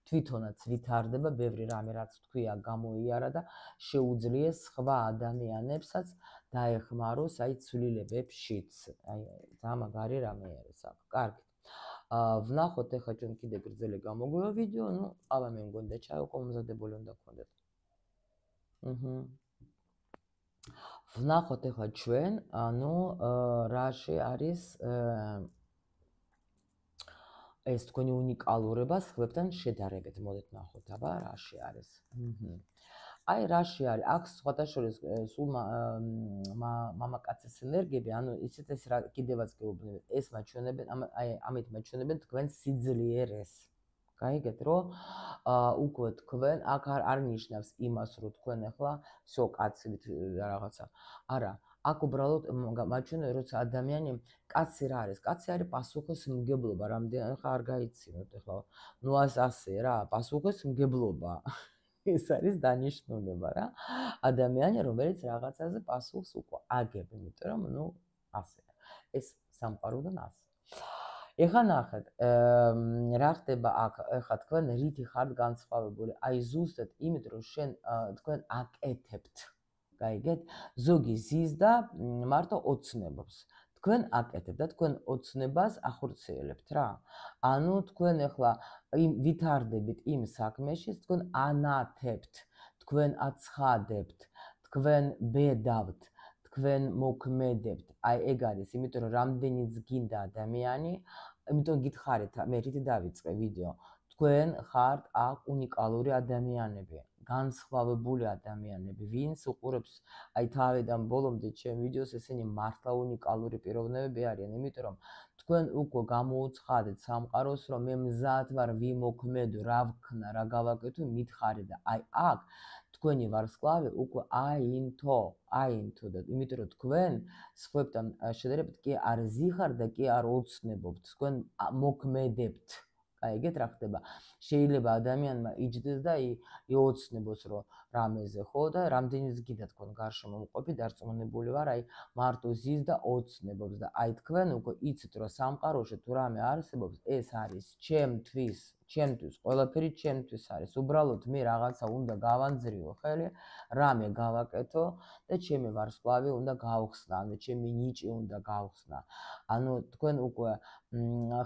S1: თვითონაც ვითარდება ბევრი რამე რაც თქვია გამოიარა და შეუძლიეს სხვა ადამიანებსაც დაეხმაროს აი ცვლილებებშიც აი ძალიან მაგარი რამე არის აქ კარგი ვნახოთ ახლა ჩვენ კიდე გრძელი გამოგვივა ვიდეო, ну, ყავა მე მგონი და ჩაი უკვე მომზადებული უნდა გქონდეთ. აჰა. ვნახოთ ახლა ჩვენ, ანუ რაში არის ეს თქვენი უნიკალურება სხვებთან შედარებით. მოდით ნახოთ, აბა, რაში არის. აჰა. აი რაში არის აქ სხვათა შორის სულ მამაკაცის ენერგიები ანუ ისეთ ეს რა კიდევაც გეუბნებით ეს მაჩვენებენ აი ამით მაჩვენებენ თქვენ სიძლიერეს გაიგეთ რომ უკვე თქვენ აქ არ ნიშნავს იმას რომ თქვენ ახლა всё კაცით რაღაცა არა აქ უბრალოდ მაჩვენებენ როცა ადამიანი კაცი რა არის კაცი არის პასუხისმგებლობა რამდენი ხარ არ გაიცინოთ ახლა ნუ ასე რა პასუხისმგებლობა ეს არის დანიშნულება რა ადამიანი რომელიც რაღაცაზე პასუხს უკვე აგებს იმიტომ რომ ნუ ასე ეს სამყაროდან ასე ეხლა ნახეთ რა ხდება აქ ეხლა თქვენ რითი ხართ განსხვავებული აი ზუსტად იმით რომ შენ თქვენ აკეთებთ გაიგეთ ზოგი ზის და მარტო ოცნებობს თქვენ აკეთებთ და თქვენ ოცნებას ახორციელებთ რა ანუ თქვენ ეხლა იმ ვითარდებით იმ საქმეში თქვენ ანათებთ თქვენ აცხადებთ თქვენ ბედავთ თქვენ მოქმედებთ აი ეგ არის იმიტომ რომ რამდენიც გინდა ადამიანი იმიტომ გითხარით მე რითი დავიწყე ვიდეო თქვენ ხართ აქ უნიკალური ადამიანები, განსხვავებული ადამიანები, ვინც უყურებს აი თავიდან ბოლომდე ჩემ ვიდეოს, ესენი მართლა უნიკალური პიროვნებები არიან, იმიტომ რომ თქვენ უკვე გამოუცხადეთ სამყაროს, რომ მე მზად ვარ ვიმოქმედო, რა ვქნა, რა გავაკეთო, მითხარი და აი აქ თქვენი ვარსკვლავი უკვე აინთო, აინთო და იმიტომ რომ თქვენ სხვებთან შედარებით კი არ ზიხარ და კი არ ოცნებობთ, თქვენ მოქმედებთ. აი ეგეთ რა ხდება. შეიძლება ადამიანმა იჯდეს და იოცნებოს რომ რამეზე ხო და რამდენიც გიდა თქვენ გარშემო მყოფი დარწმუნებული ვარ, აი მარტო ზის და ოცნებობს და აი თქვენ უკვე იცით რომ სამყაროში თუ რამე არსებობს, ეს არის ჩემთვის, ჩემთვის, ყველაფერი ჩემთვის არის. უბრალოდ მე რაღაცა უნდა გავანძრიო ხელი, რამე გავაკეთო და ჩემი ვარსკვლავი უნდა გავხსნა, ანუ ჩემი ნიჭი უნდა გავხსნა. ანუ თქვენ უკვე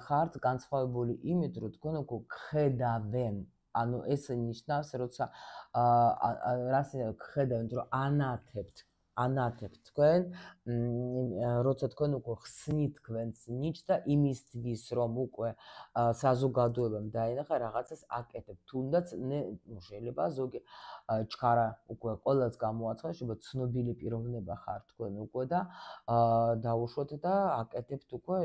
S1: ხართ განსხვავებული იმით, რომ თქვენ უკვე გხედავენ. ანუ ეს ნიშნავს, როცა რას გხედავენ, რომ ანათებთ, ანათებთ თქვენ, როცა თქვენ უკვე ხსნით თქვენს ნიჭს და იმისთვის, რომ უკვე საზოგადოებამ დაინახა რაღაცას აკეთებ. თუნდაც შეიძლება ზოგი ჩქარა უკვე ყველას გამოაცხადოს, შეიძლება ცნობილი პიროვნება ხარ თქვენ უკვე და დაუშვოთ და აკეთებთ უკვე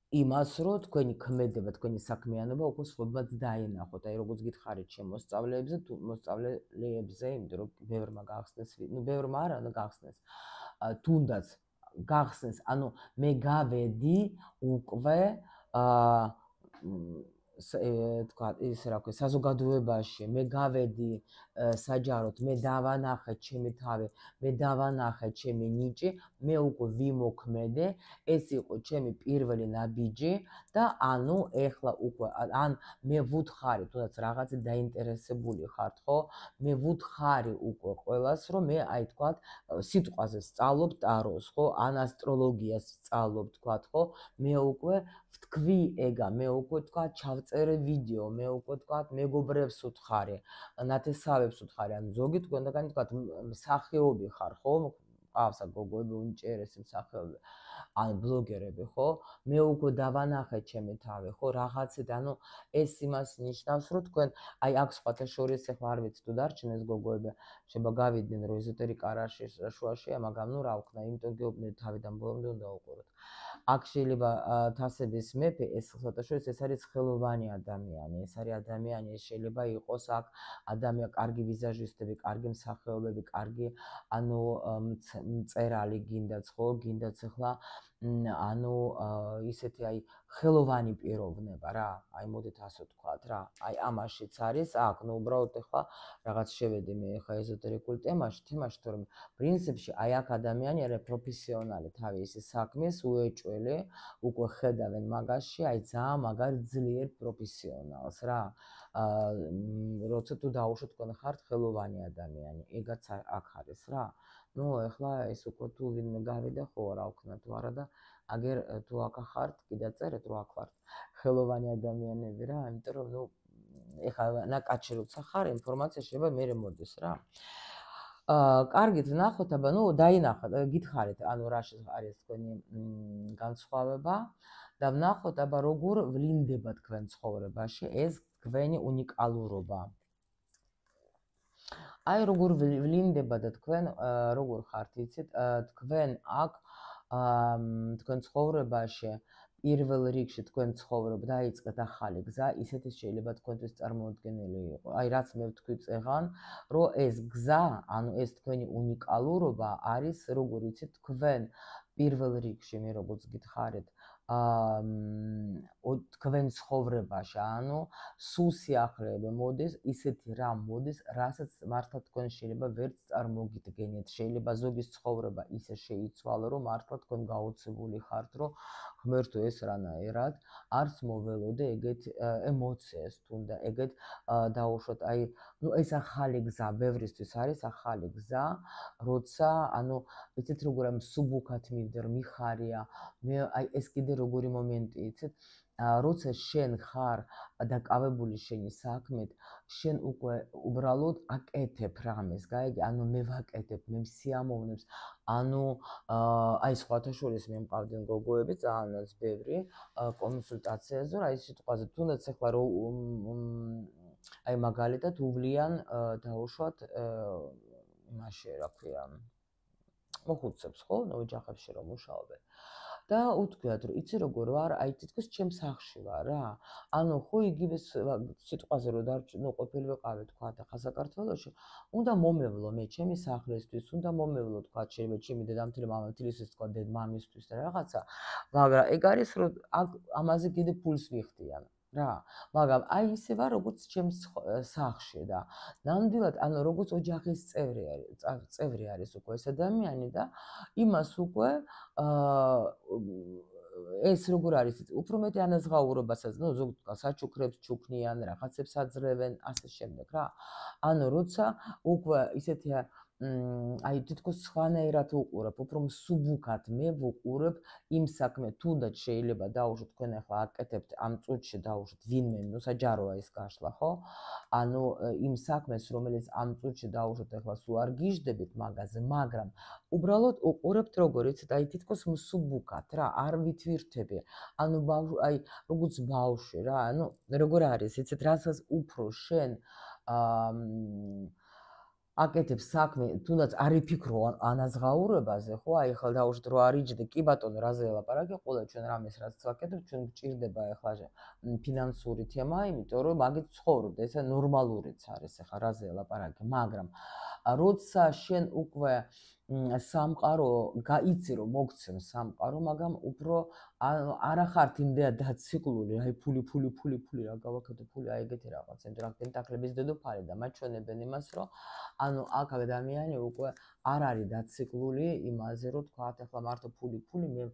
S1: იმას, რომ თქვენი ქმედება, თქვენი საქმიანობა უკვე სხვებმაც დაინახოთ. აი როგორც გითხარით ჩემ მოსწავლეებზე, თუ მოსწავლეებზე, იმიტომ რომ ბევრმა გახსნეს, ნუ ბევრმა არა, და გახსნეს. თუნდაც გახსნეს, ანუ მე გავედი უკვე აა თქვა ის რა ქვია, საზოგადოებაში, მე გავედი საჯაროდ, მე დავანახე ჩემი თავი, მე დავანახე ჩემი ნიჭი, მე უკვე ვიმოქმედე, ეს იყო ჩემი პირველი ნაბიჯი და ანუ ეხლა უკვე ან მე ვუთხარი, თუნდაც რაღაცა დაინტერესებული ხართ, ხო? მე ვუთხარი უკვე ყველას, რომ მე აი თქვა სიტყვაზე სწავლობ ტაროს, ხო? ან ასტროლოგიას სწავლობ, თქვა, ხო? მე უკვე ვთქვი ეგა, მე უკვე თქვა ჩავწერე ვიდეო, მე უკვე თქვა მეგობრებს ვუთხარი, ნათესავებს ვუთხარი, ან ზოგი თქვენგანი თქვა მსახიობი ხარ, ხო? ყავსა გოგოები უნჭერესი მსახიობი, ან ბლოგერები, ხო? მე უკვე დავანახე ჩემი თავი, ხო? რაღაცეთ, ანუ ეს იმას ნიშნავს, რომ თქვენ აი აქ სხვათა შორის ახლა არ ვიცი თუ დარჩენ ეს გოგოები, შეიძლება გავიდნენ რომ ეზოტერიკა არ არის შუაშია, მაგრამ ნუ რა ვქნა, იმიტომ გეუბნები თავიდან ბოლომდე უნდა უყუროთ. აქ შეიძლება თასების მეფე, ეს სხვათა შორის ეს არის ხელოვანი ადამიანი, ეს არის ადამიანი, ეს შეიძლება იყოს აქ ადამიანი, კარგი ვიზაჟისტები, კარგი მსახიობები, კარგი ანუ მწერალი გინდაც, ხო? გინდაც ახლა ანუ ისეთი აი ხელოვანი პიროვნება რა, აი მოდით ასე ვთქვათ რა, აი ამაშიც არის, აქ ნუ უბრალოდ ახლა რაღაც შევედი მე ახლა ეზოტერიკულ თემაში, თემაში, თორემ პრინციპში აი აქ ადამიანი არის პროფესიონალი თავის საქმის, უეჭველი, უკვე ხედავენ მაგაში, აი ძალიან მაგარ ძლიერ პროფესიონალს რა. როცა თუ დაუშვათ თქვენ ხართ ხელოვანი ადამიანი, ეგაც აქ არის რა. ნუ ახლა ეს უკვე თუ ვინმე გავიდა, ხო რა ვქნა თუ არა და აგერ თუ აქ ხართ, კიდე წერეთ რომ აქ ვართ ხელოვანი ადამიანები რა, იმიტომ რომ ნუ ეხლა ნაკაჩი როცა ხარ, ინფორმაცია შეიძლება მერე მოდის რა. აა კარგით, ვნახოთ, აბა ნუ დაინახოთ, გითხარით, ანუ რა არის თქვენი განსხვავება და ვნახოთ, აბა როგორ ვლინდება თქვენ ცხოვრებაში ეს თქვენი უნიკალურობა. აი როგორ ვლინდება და თქვენ როგორ ხართ, იცით, თქვენ აქ თქვენ ცხოვრებაში პირველ რიგში თქვენ ცხოვრობ დაიწყეთ ახალი გზა, ისეთი შეიძლება თქვენთვის წარმოუდგენელი იყო. აი რაც მე ვთქვი წეღან, რომ ეს გზა, ანუ ეს თქვენი უნიკალურობა არის, როგორ იცით, თქვენ პირველ რიგში მე როგორც გითხარით, აა თქვენ ცხოვრებაში, ანუ სულ სიახლეები მოდის, ისეთი რამ მოდის, რასაც მართლა თქვენ შეიძლება ვერც წარმოგიდგენიათ. შეიძლება ზოგის ცხოვრება ისე შეიცვალო, რომ მართლა თქვენ გაოცებული ხართ, რომ ღმერთო ეს რანაირად არც მოველოდე ეგეთ ემოციას თუნდა ეგეთ დაუშვათ, აი ნუ ეს ახალი გზა, ბევრისთვის არის ახალი გზა, როცა ანუ იცით როგორ ამ სუბუქად მივდერ, მიხარია, მე აი ეს კიდე როგორი მომენტი იცით, როცა შენ ხარ დაკავებული შენი საქმით, შენ უკვე უბრალოდ აკეთებ რამეს, გაიგე? ანუ მე ვაკეთებ, მე სიამოვნებს, ანუ აი სხვათა შორის მე მყავდნენ გოგოები ძალიანაც ბევრი კონსულტაციაზე, რა ის სიტყვაზე, თუნდაც ახლა რო აი მაგალითად უვლიან დაუშვათ იმაში, რა ქვია, მოხუცებს, ხო? ნუ ოჯახებში რომ მუშაობენ. და უთქვიათ, რომ იცი როგორ ვარ, აი თითქოს ჩემს სახლში ვარ რა. ანუ ხო იგივე სიტყვაზე რომ ნუ ყოფილი ვიყავი თქვა და ხა საქართველოში, უნდა მომევლო მე ჩემი სახლისთვის, უნდა მომევლო თქვა შეიძლება ჩემი დედამთილი მამამთილისთვის თქვა დედმამისთვის და რაღაცა, მაგრამ ეგ არის რომ ამაზე კიდე ფულს ვიხდიან. რა, მაგრამ აი ისე ვარ როგორც ჩემს სახლში და ნამდვილად ანუ როგორც ოჯახის წევრი არის, წევრი არის უკვე ეს ადამიანი და იმას უკვე ეს როგორ არის, უფრო მეტი ანაზღაურებასაც, ნუ ზოგადად საჩუქრებს ჩუქნიან, რაღაცებს აძლევენ, ასე შემდეგ რა. ანუ როცა უკვე ისეთია აი თითქოს სხვანაირად უყურებ, უფრო მსუბუქად მე ვუყურებ იმ საქმე, თუნდაც შეიძლება დაუშვათ თქვენ ახლა აკეთებთ ამ წუთში დაუშვათ ვინმე, ნუ საჯაროა ის გაშლა, ხო? ანუ იმ საქმეს, რომელიც ამ წუთში დაუშვათ ახლა სულ არ გიждდებით მაგაზე, მაგრამ უბრალოდ უყურებთ როგორ იცით, აი თითქოს მსუბუქად რა, არ ვითვირთები. ანუ აი როგორც ბავშვი რა, ანუ როგორ არის, იცით, რასაც უფრო შენ აა აკეთებ საქმე, თუნდაც არ იფიქრო ანაზღაურებაზე, ხო? აი ახლა დაუშვათ რო არიჯდე, კი ბატონო, რაზე ელაპარაკე, ყველა ჩვენ რამეს რაც ვაკეთებ, ჩვენ გვჭირდება ახლა ფინანსური თემა, იმიტომ რომ მაგით ცხოვრობ და ესა ნორმალურიც არის ახლა რაზე ელაპარაკე, მაგრამ როცა შენ უკვე სამყარო გაიცი რომ მოგცემ სამყარო, მაგრამ უფრო არა ხართ იმდენად დაციკლული, აი ფული, ფული, ფული, ფული რა გავაკეთე, ფული, აი ეგეთი რაღაც, იმიტომ რომ პენტაკლების დედოფალი და მათ ჩვენებენ იმას, რომ ანუ აქ ადამიანი უკვე არ არის დაციკლული იმაზე, რომ თქვათ ახლა მარტო ფული, ფული, მე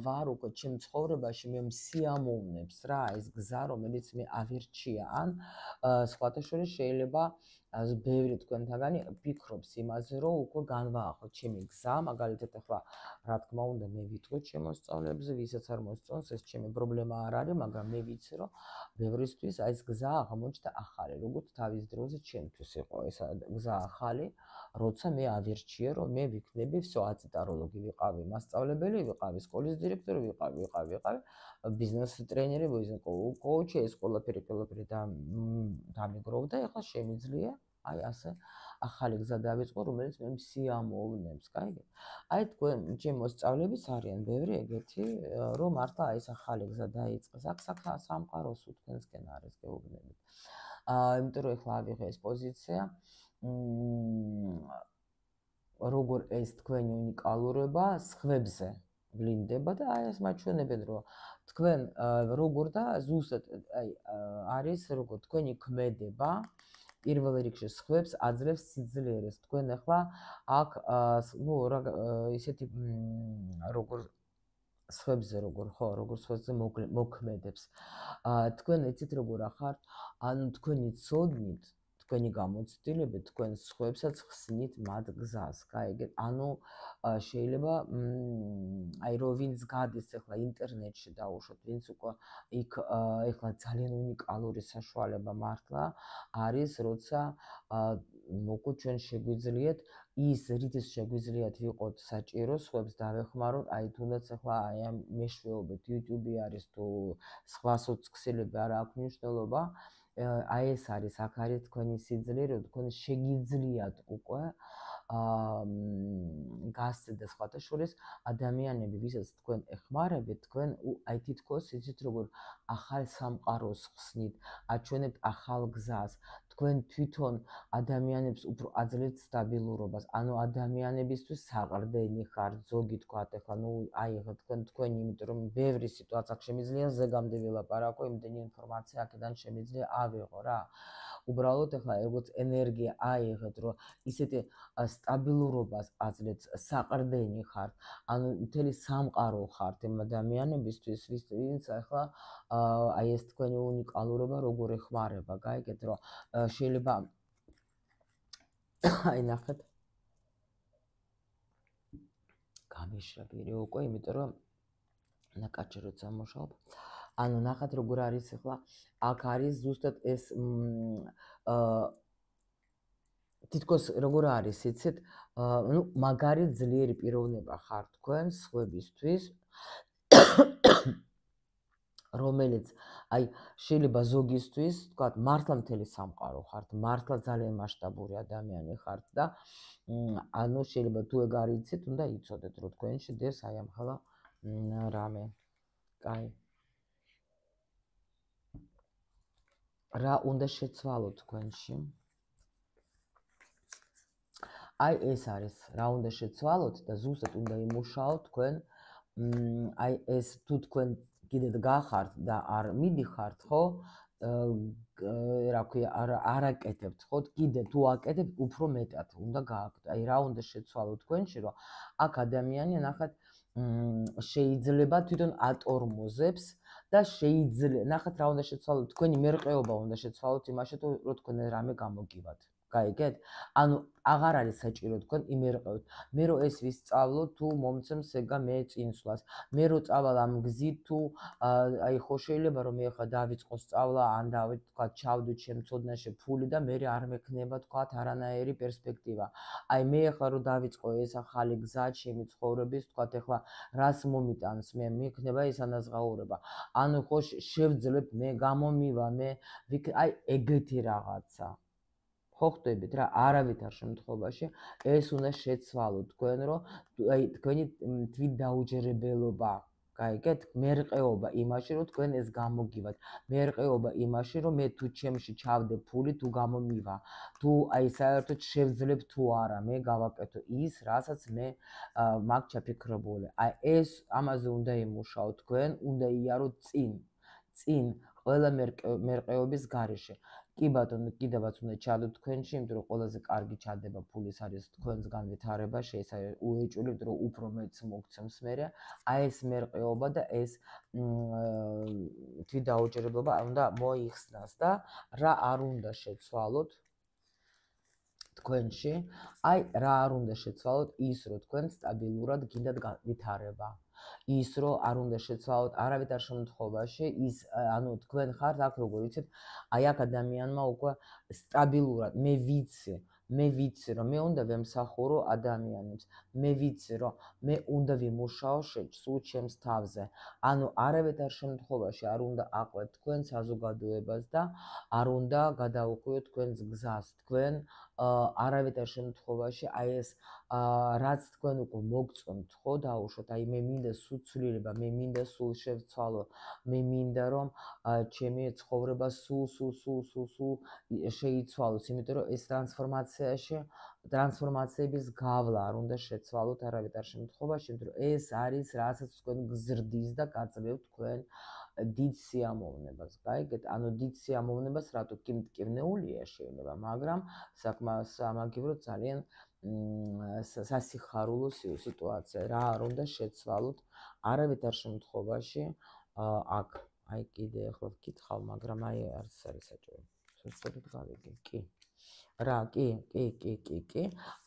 S1: ვარ უკვე ჩემ ცხოვრებაში, მე მსიამოვნებს რა ეს გზა, რომელიც მე ავირჩია, ან სხვათა შორის შეიძლება ბევრი თქვენთაგანი ფიქრობს იმაზე, რომ უკვე განვაახო ჩემი გზა, მაგალითად ახლა რა თქმა უნდა მე ვიტყვი შემოსწავლებზე, ვისაც არ მოსწონს, ეს ჩემი პრობლემა არ არის, მაგრამ მე ვიცი, რომ ბევრისთვის აი ეს გზა აღმოჩნდა ახალი, როგორც თავის დროზე ჩემთვის იყო ეს გზა ახალი, როცა მე ავირჩიე, რომ მე ვიქნები всё აწიტაროლოგი ვიყავი, მასწავლებელი ვიყავი, სკოლის დირექტორი ვიყავი, ვიყავი, ვიყავი, ბიზნეს ტრენერი, ბიზნეს კოუჩი, ეს ყველაფერი, ყველაფერი და დამიგროვდა, ეხლა შემიძლია აი ასე ახალი გზა დავიწყო, რომელიც მე მსიამოვნებს, გაიგე? აი თქვენ ჩემ მოსწავლეებს არიან ბევრი ეგეთი, რომ მართლა აი ეს ახალი გზა დაიწყეს, აქ სამყაროს თქვენსკენ არის, გეუბნებით. აა, იმიტომ რომ ეხლა ავიღე ეს პოზიცია, როგორ ეს თქვენი უნიკალურობა სხვებზე ვლინდება და აი ეს მაჩვენებენ, რომ თქვენ როგორ და ზუსტად აი არის როგორ თქვენი ქმედება პირველ რიგში სხვებს აძლევს სიძლიერეს. თქვენ ახლა აქ ნუ ისეთი როგორ სხვებზე როგორ ხო, როგორ სხვებზე მოქმედებს. თქვენ იცით როგორ ახართ, ანუ თქვენი ცოდნით, თქვენი გამოცდილებით თქვენ სხვებსაც ხსნით მათ გზას, გაიგეთ? ანუ შეიძლება აი რო ვინც გადის ახლა ინტერნეტში დაუშვათ, ვინც უკვე იქ ახლა ძალიან უნიკალური საშუალება მართლა არის, როცა მოკლედ ჩვენ შეგვიძლიათ ის რითიც შეგვიძლიათ ვიყოთ საჭირო, სხვებს დავეხმაროთ, აი თუნდაც ახლა აი ამ მეშვეობით YouTube არის თუ სხვა სოციქსელები არ აქვს მნიშვნელობა, აი ეს არის, აქ არის თქვენი სიძლიერე, რომ თქვენ შეგიძლიათ უკვე აა გასცეთ და სხვათა შორის ადამიანები, ვისაც თქვენ ეხმარებით, თქვენ აი თითქოს იცით როგორ ახალ სამყაროს ხსნით, აჩვენებთ ახალ გზას, თქვენ თვითონ ადამიანებს უფრო აძლევთ სტაბილურობას, ანუ ადამიანებისთვის საყრდენი ხართ, ზოგი თქვათ, ახლა ნუ აი თქვენ თქვენი, იმიტომ რომ ბევრი სიტუაცია შემიძლია ზეგამდე ვილაპარაკო, იმდენი ინფორმაცია აქედან შემიძლია ავიღო რა. უბრალოდ ახლა როგორც ენერგია აიღეთ, რომ ისეთი სტაბილურობას აძლევთ, საყრდენი ხართ, ანუ მთელი სამყარო ხართ იმ ადამიანებისთვის, ვინც ახლა აი ეს თქვენი უნიკალურობა როგორ ეხმარება, გაიგეთ, რომ შეიძლება აი ნახეთ გამიშრა პირი უკვე, იმიტომ რომ ნაკაჭი როცა მუშაობ, ანუ ნახეთ როგორ არის ახლა აქ არის ზუსტად ეს თითქოს როგორ არის იცით ნუ მაგარი ძლიერი პიროვნება ხარ თქვენ სხვებისთვის რომელიც აი შეიძლება ზოგისთვის თქვათ მართლა მთელი სამყარო ხართ მართლა ძალიან მასშტაბური ადამიანი ხართ და ანუ შეიძლება თუ ეგ არ იცით უნდა იცოდეთ რომ თქვენში დეს აი ამ ხალა რამე კაი რა უნდა შეცვალოთ თქვენში აი ეს არის რა უნდა შეცვალოთ და ზუსტად უნდა იმუშაოთ თქვენ აი ეს თუ თქვენ კიდევ გახართ და არ მიდიხართ ხო რა ქვია არ აკეთებთ ხო კიდე თუ აკეთებთ უფრო მეტად უნდა გააკეთოთ აი რა უნდა შეცვალოთ თქვენში რომ აქ ადამიანი ნახეთ შეიძლება თვითონ ატორმოზებს და შეიძლება ნახეთ რა უნდა შეცვალოთ თქვენი მერყეობა უნდა შეცვალოთ იმაში რომ თქვენ რამე გამოგივათ გაიგეთ ანუ აღარ არის საჭირო თქვენ იმერყევთ მე რო ეს ვისწავლო თუ მომცემს ეგა მე წინსვლას მე რო წავალ ამ გზით თუ აი ხო შეიძლება რომ მე ხა დავიწყო სწავლა ან დავით თქვა ჩავდო ჩემ ცოდნაში ფული და მე არ მექნება თქვა არანაირი პერსპექტივა აი მე ხა რო დავიწყო ეს ახალი გზა ჩემი ცხოვრების თქვა ეხლა რას მომიტანს მე მექნება ეს ანაზღაურება ანუ ხო შევძლებ მე გამომივა მე აი ეგეთი რაღაცა ხო ხდებით რა არავითარ შემთხვევაში ეს უნდა შეცვალოთ თქვენ რომ აი თქვენი თვით დაუჯერებელობა გაიგეთ მერყეობა იმაში რომ თქვენ ეს გამოგივათ მერყეობა იმაში რომ მე თუ ჩემში ჩავდე ფული თუ გამომივა თუ აი საერთოდ შევძლებ თუ არა მე გავაკეთო ის რასაც მე მაგ ჩაფიქრებული აი ეს ამაზე უნდა იმუშაოთ თქვენ უნდა იაროთ წინ წინ ყველა მერყეობის გარეშე კი ბატონო კიდევაც უნდა ჩადოთ თქვენში იმიტომ რომ ყველაზე კარგი ჩადება ფულის არის თქვენს განვითარება შეიძლება უეჭვლით რომ უფრო მეც მოგცემს მე აი ეს მერყეობა და ეს თვით დაუჯერებლობა უნდა მოიხსნას და რა არ უნდა შეცვალოთ თქვენში აი რა არ უნდა შეცვალოთ ის რომ თქვენ სტაბილურად გინდათ განვითარება ის რომ არ უნდა შეცვალოთ არავითარ შემთხვევაში ის ანუ თქვენ ხართ აქ როგორ იცით აი აქ ადამიანმა უკვე სტაბილურად მე ვიცი მე ვიცი რომ მე უნდა ვემსახურო ადამიანებს მე ვიცი რომ მე უნდა ვიმუშაო სულ ჩემს თავზე ანუ არავითარ შემთხვევაში არ უნდა აყვეთ თქვენ საზოგადოებას და არ უნდა გადაუხვიოთ თქვენს გზას თქვენ არავითარ შემთხვევაში აი ეს რაც თქვენ უკვე მოგწონთ ხო დაუშვოთ აი მე მინდა სულ ცვლილება მე მინდა სულ შევცვალო მე მინდა რომ ჩემი ცხოვრება სულ სულ სულ სულ სულ შეიცვალოს იმიტომ რომ ეს ტრანსფორმაციაში ტრანსფორმაციების გავლა არ უნდა შეცვალოთ არავითარ შემთხვევაში იმიტომ რომ ეს არის რასაც თქვენ გზრდის და გაძლევთ თქვენ დიდ სიამოვნებას გაიგეთ ანუ დიდ სიამოვნებას რატო კი მტკივნეულია შეიძლება მაგრამ საკმაოდ სამაგიეროდ ძალიან სასიხარულო სიტუაცია რა არ უნდა შეცვალოთ არავითარ შემთხვევაში აქ აი კიდე ახლა ვკითხავ მაგრამ აი არც არის საჭირო სწორედ გავიგე კი რა კი კი კი კი კი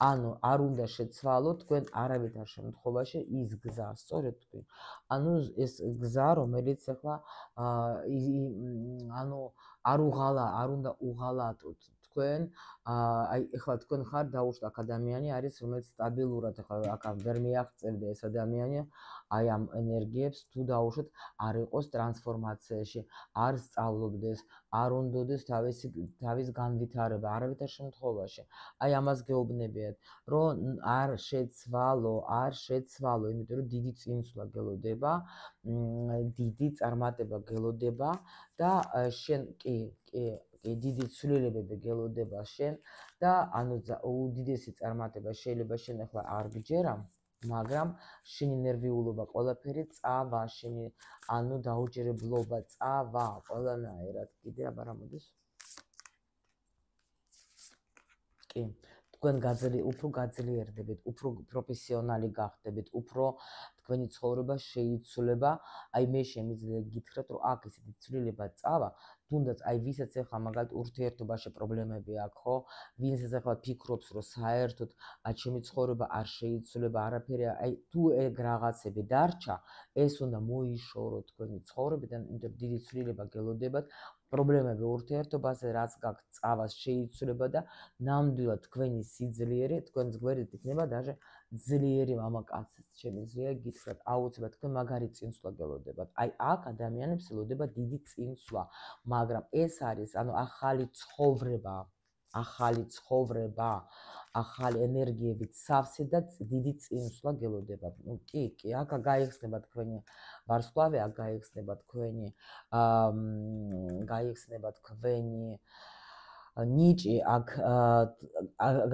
S1: ანუ არ უნდა შეცვალოთ თქვენ არავითარ შემთხვევაში ის გზა სწორედ თქვი ანუ ეს გზა რომელიც ახლა ანუ არ უღალა არ უნდა უღალატოთ თქვენ აი ახლა თქვენ ხარ დაუშვათ აქ ადამიანი არის რომელიც სტაბილურად ახლა აქ ვერ მიაღწევდა ეს ადამიანი აი ამ ენერგიებს თუ დაუშვათ არ იყოს ტრანსფორმაციაში არ სწავლობდეს არ უნდოდეს თავისი თავის განვითარება არავითარ შემთხვევაში აი ამას გეუბნებიათ რომ არ შეცვალო არ შეცვალო იმიტომ რომ დიდი წინსვლა გელოდება დიდი წარმატება გელოდება და შენ კი კი დიდი ცვლილებები გელოდება შენ და ანუ უდიდესი წარმატება შეიძლება შენ ახლა არ გჯერა მაგრამ შენი ნერვიულობა ყველაფერი წავა შენი ანუ დაუჯერებლობა წავა ყველანაირად კიდე აბა რა მოდის კი თქვენ გაძლიერდებით უფრო გაძლიერდებით უფრო პროფესიონალი გახდებით უფრო თქვენი ცხოვრება შეიცვლება. აი მე შემიძლია გითხრათ, რომ აქ ისეთი ცვლილება წავა, თუნდაც აი ვისაც ახლა მაგალითად ურთიერთობაში პრობლემები აქვს, ხო? ვინცაც ახლა ფიქრობს, რომ საერთოდ აი ჩემი ცხოვრება არ შეიცვლება, არაფერი, აი თუ ეგ რაღაცები დარჩა, ეს უნდა მოიშორო თქვენი ცხოვრებიდან, იმიტომ რომ დიდი ცვლილება გელოდებათ. პრობლემები ურთიერთობაზე, რაც გაქვთ, წავას შეიცვლება და ნამდვილად თქვენი სიძლიერე, თქვენს გვერდით იქნება даже ძლიერი მამაკაციც შემიძლია გითხრათ, აუცილებლად თქვენ მაგარი წინსვლა გელოდებათ. აი აქ ადამიანებს ელოდება დიდი წინსვლა, მაგრამ ეს არის, ანუ ახალი ცხოვრება, ახალი ცხოვრება, ახალი ენერგიებით სავსე და დიდი წინსვლა გელოდებათ. ნუ კი, კი, აქ გაიხსნება თქვენი ვარსკვლავი, აქ გაიხსნება თქვენი აა გაიხსნება თქვენი ნიჭი, აქ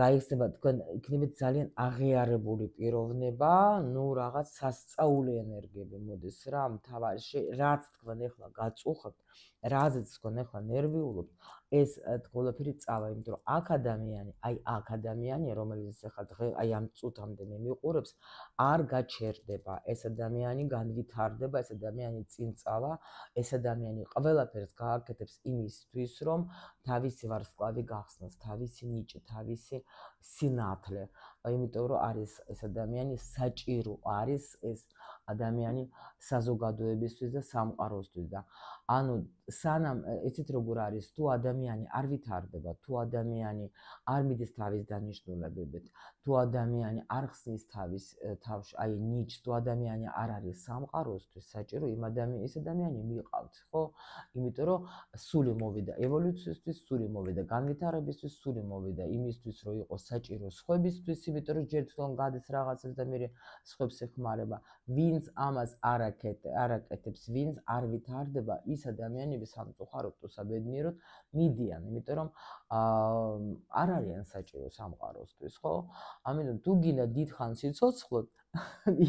S1: გაიხსნება თქვენ იქნებით ძალიან აღიარებული პიროვნება, ნუ რაღაც სასწაული ენერგიები მოდის რა, მთავარი რაც თქვენ ახლა გაწუხებთ, რაზეც თქვენ ახლა ნერვიულობთ, ეს ყველაფერი წავა, იმიტომ რომ აქ ადამიანი, აი აქ ადამიანი, რომელიც ახლა დღე აი ამ წუთამდე მე მიყურებს, არ გაჩერდება, ეს ადამიანი განვითარდება, ეს ადამიანი წინ წავა, ეს ადამიანი ყველაფერს გააკეთებს იმისთვის, რომ თავისი ვარსკვლავი გახსნას, თავისი ნიჭი, თავისი სინათლე. იმიტომ რომ არის ეს ადამიანი საჭირო არის ეს ადამიანი საზოგადოებისთვის და სამყაროსთვის და ანუ სანამ იცით როგორ არის, თუ ადამიანი არ ვითარდება, თუ ადამიანი არ მიდის თავის დანიშნულებებით, თუ ადამიანი არ ხსნის თავის თავში, აი ნიჭს, თუ ადამიანი არ არის სამყაროსთვის საჭირო, იმ ადამიანს ეს ადამიანი მიყავთ, ხო? იმიტომ რომ სული მოვიდა ევოლუციისთვის, სული მოვიდა განვითარებისთვის, სული მოვიდა იმისთვის, რომ იყოს საჭირო სხვებისთვის, იმიტომ რომ ჯერ თვითონ გადის რაღაცას და მერე სხვებს ეხმარება. ვინც ამას არ აკეთებს, ვინც არ ვითარდება, ის ადამიანები სამწუხაროდ თუ საბედნიეროდ მიდიან, იმიტომ რომ არ არიან საჭირო სამყაროსთვის, ხო? ამიტომ თუ გინდა დიდხანს სიცოცხლოთ,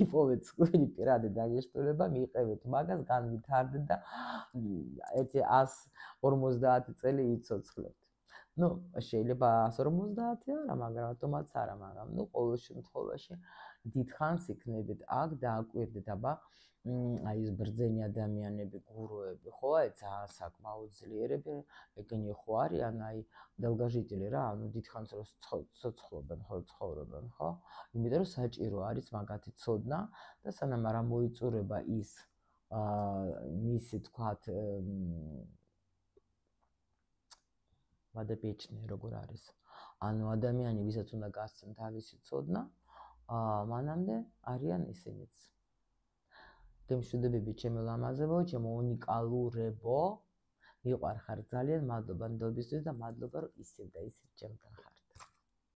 S1: იპოვეთ თქვენი პირადი დანიშნულება, მიიღებეთ მაგას, განვითარდეთ და ერთი ას ორმოცდაათი წელი იცოცხლებთ. ნუ შეიძლება ას ორმოცდაათი არა, მაგრამ ავტომატს არა, მაგრამ ნუ ყოველ შემთხვევაში დიდხანს იქნებით აქ და აკვირდეთ, აბა აი ეს ბრძენი ადამიანები, გურუები, ხო, აი ძალიან საკმაოდ ძლიერები, ეგენი ხო არიან, აი დელგაჟიტილი რა, ანუ დიდხანს რო ცოცხლობენ, ხო, ცხოვრობენ, ხო? იმიტომ რომ საჭირო არის მაგათი ცოდნა და სანამ არ მოიწურება ის მისი თქვათ ვადაბეჭდნი როგორ არის. ანუ ადამიანი, ვისაც უნდა გასცენ თავისი ცოდნა, მანამდე არიან ისინიც. გემშვიდობები ჩემო ლამაზებო, ჩემო უნიკალურებო, მიყვარხარ ძალიან, მადლობა ნდობისთვის და მადლობა რომ ისევ და ისევ ჩემთან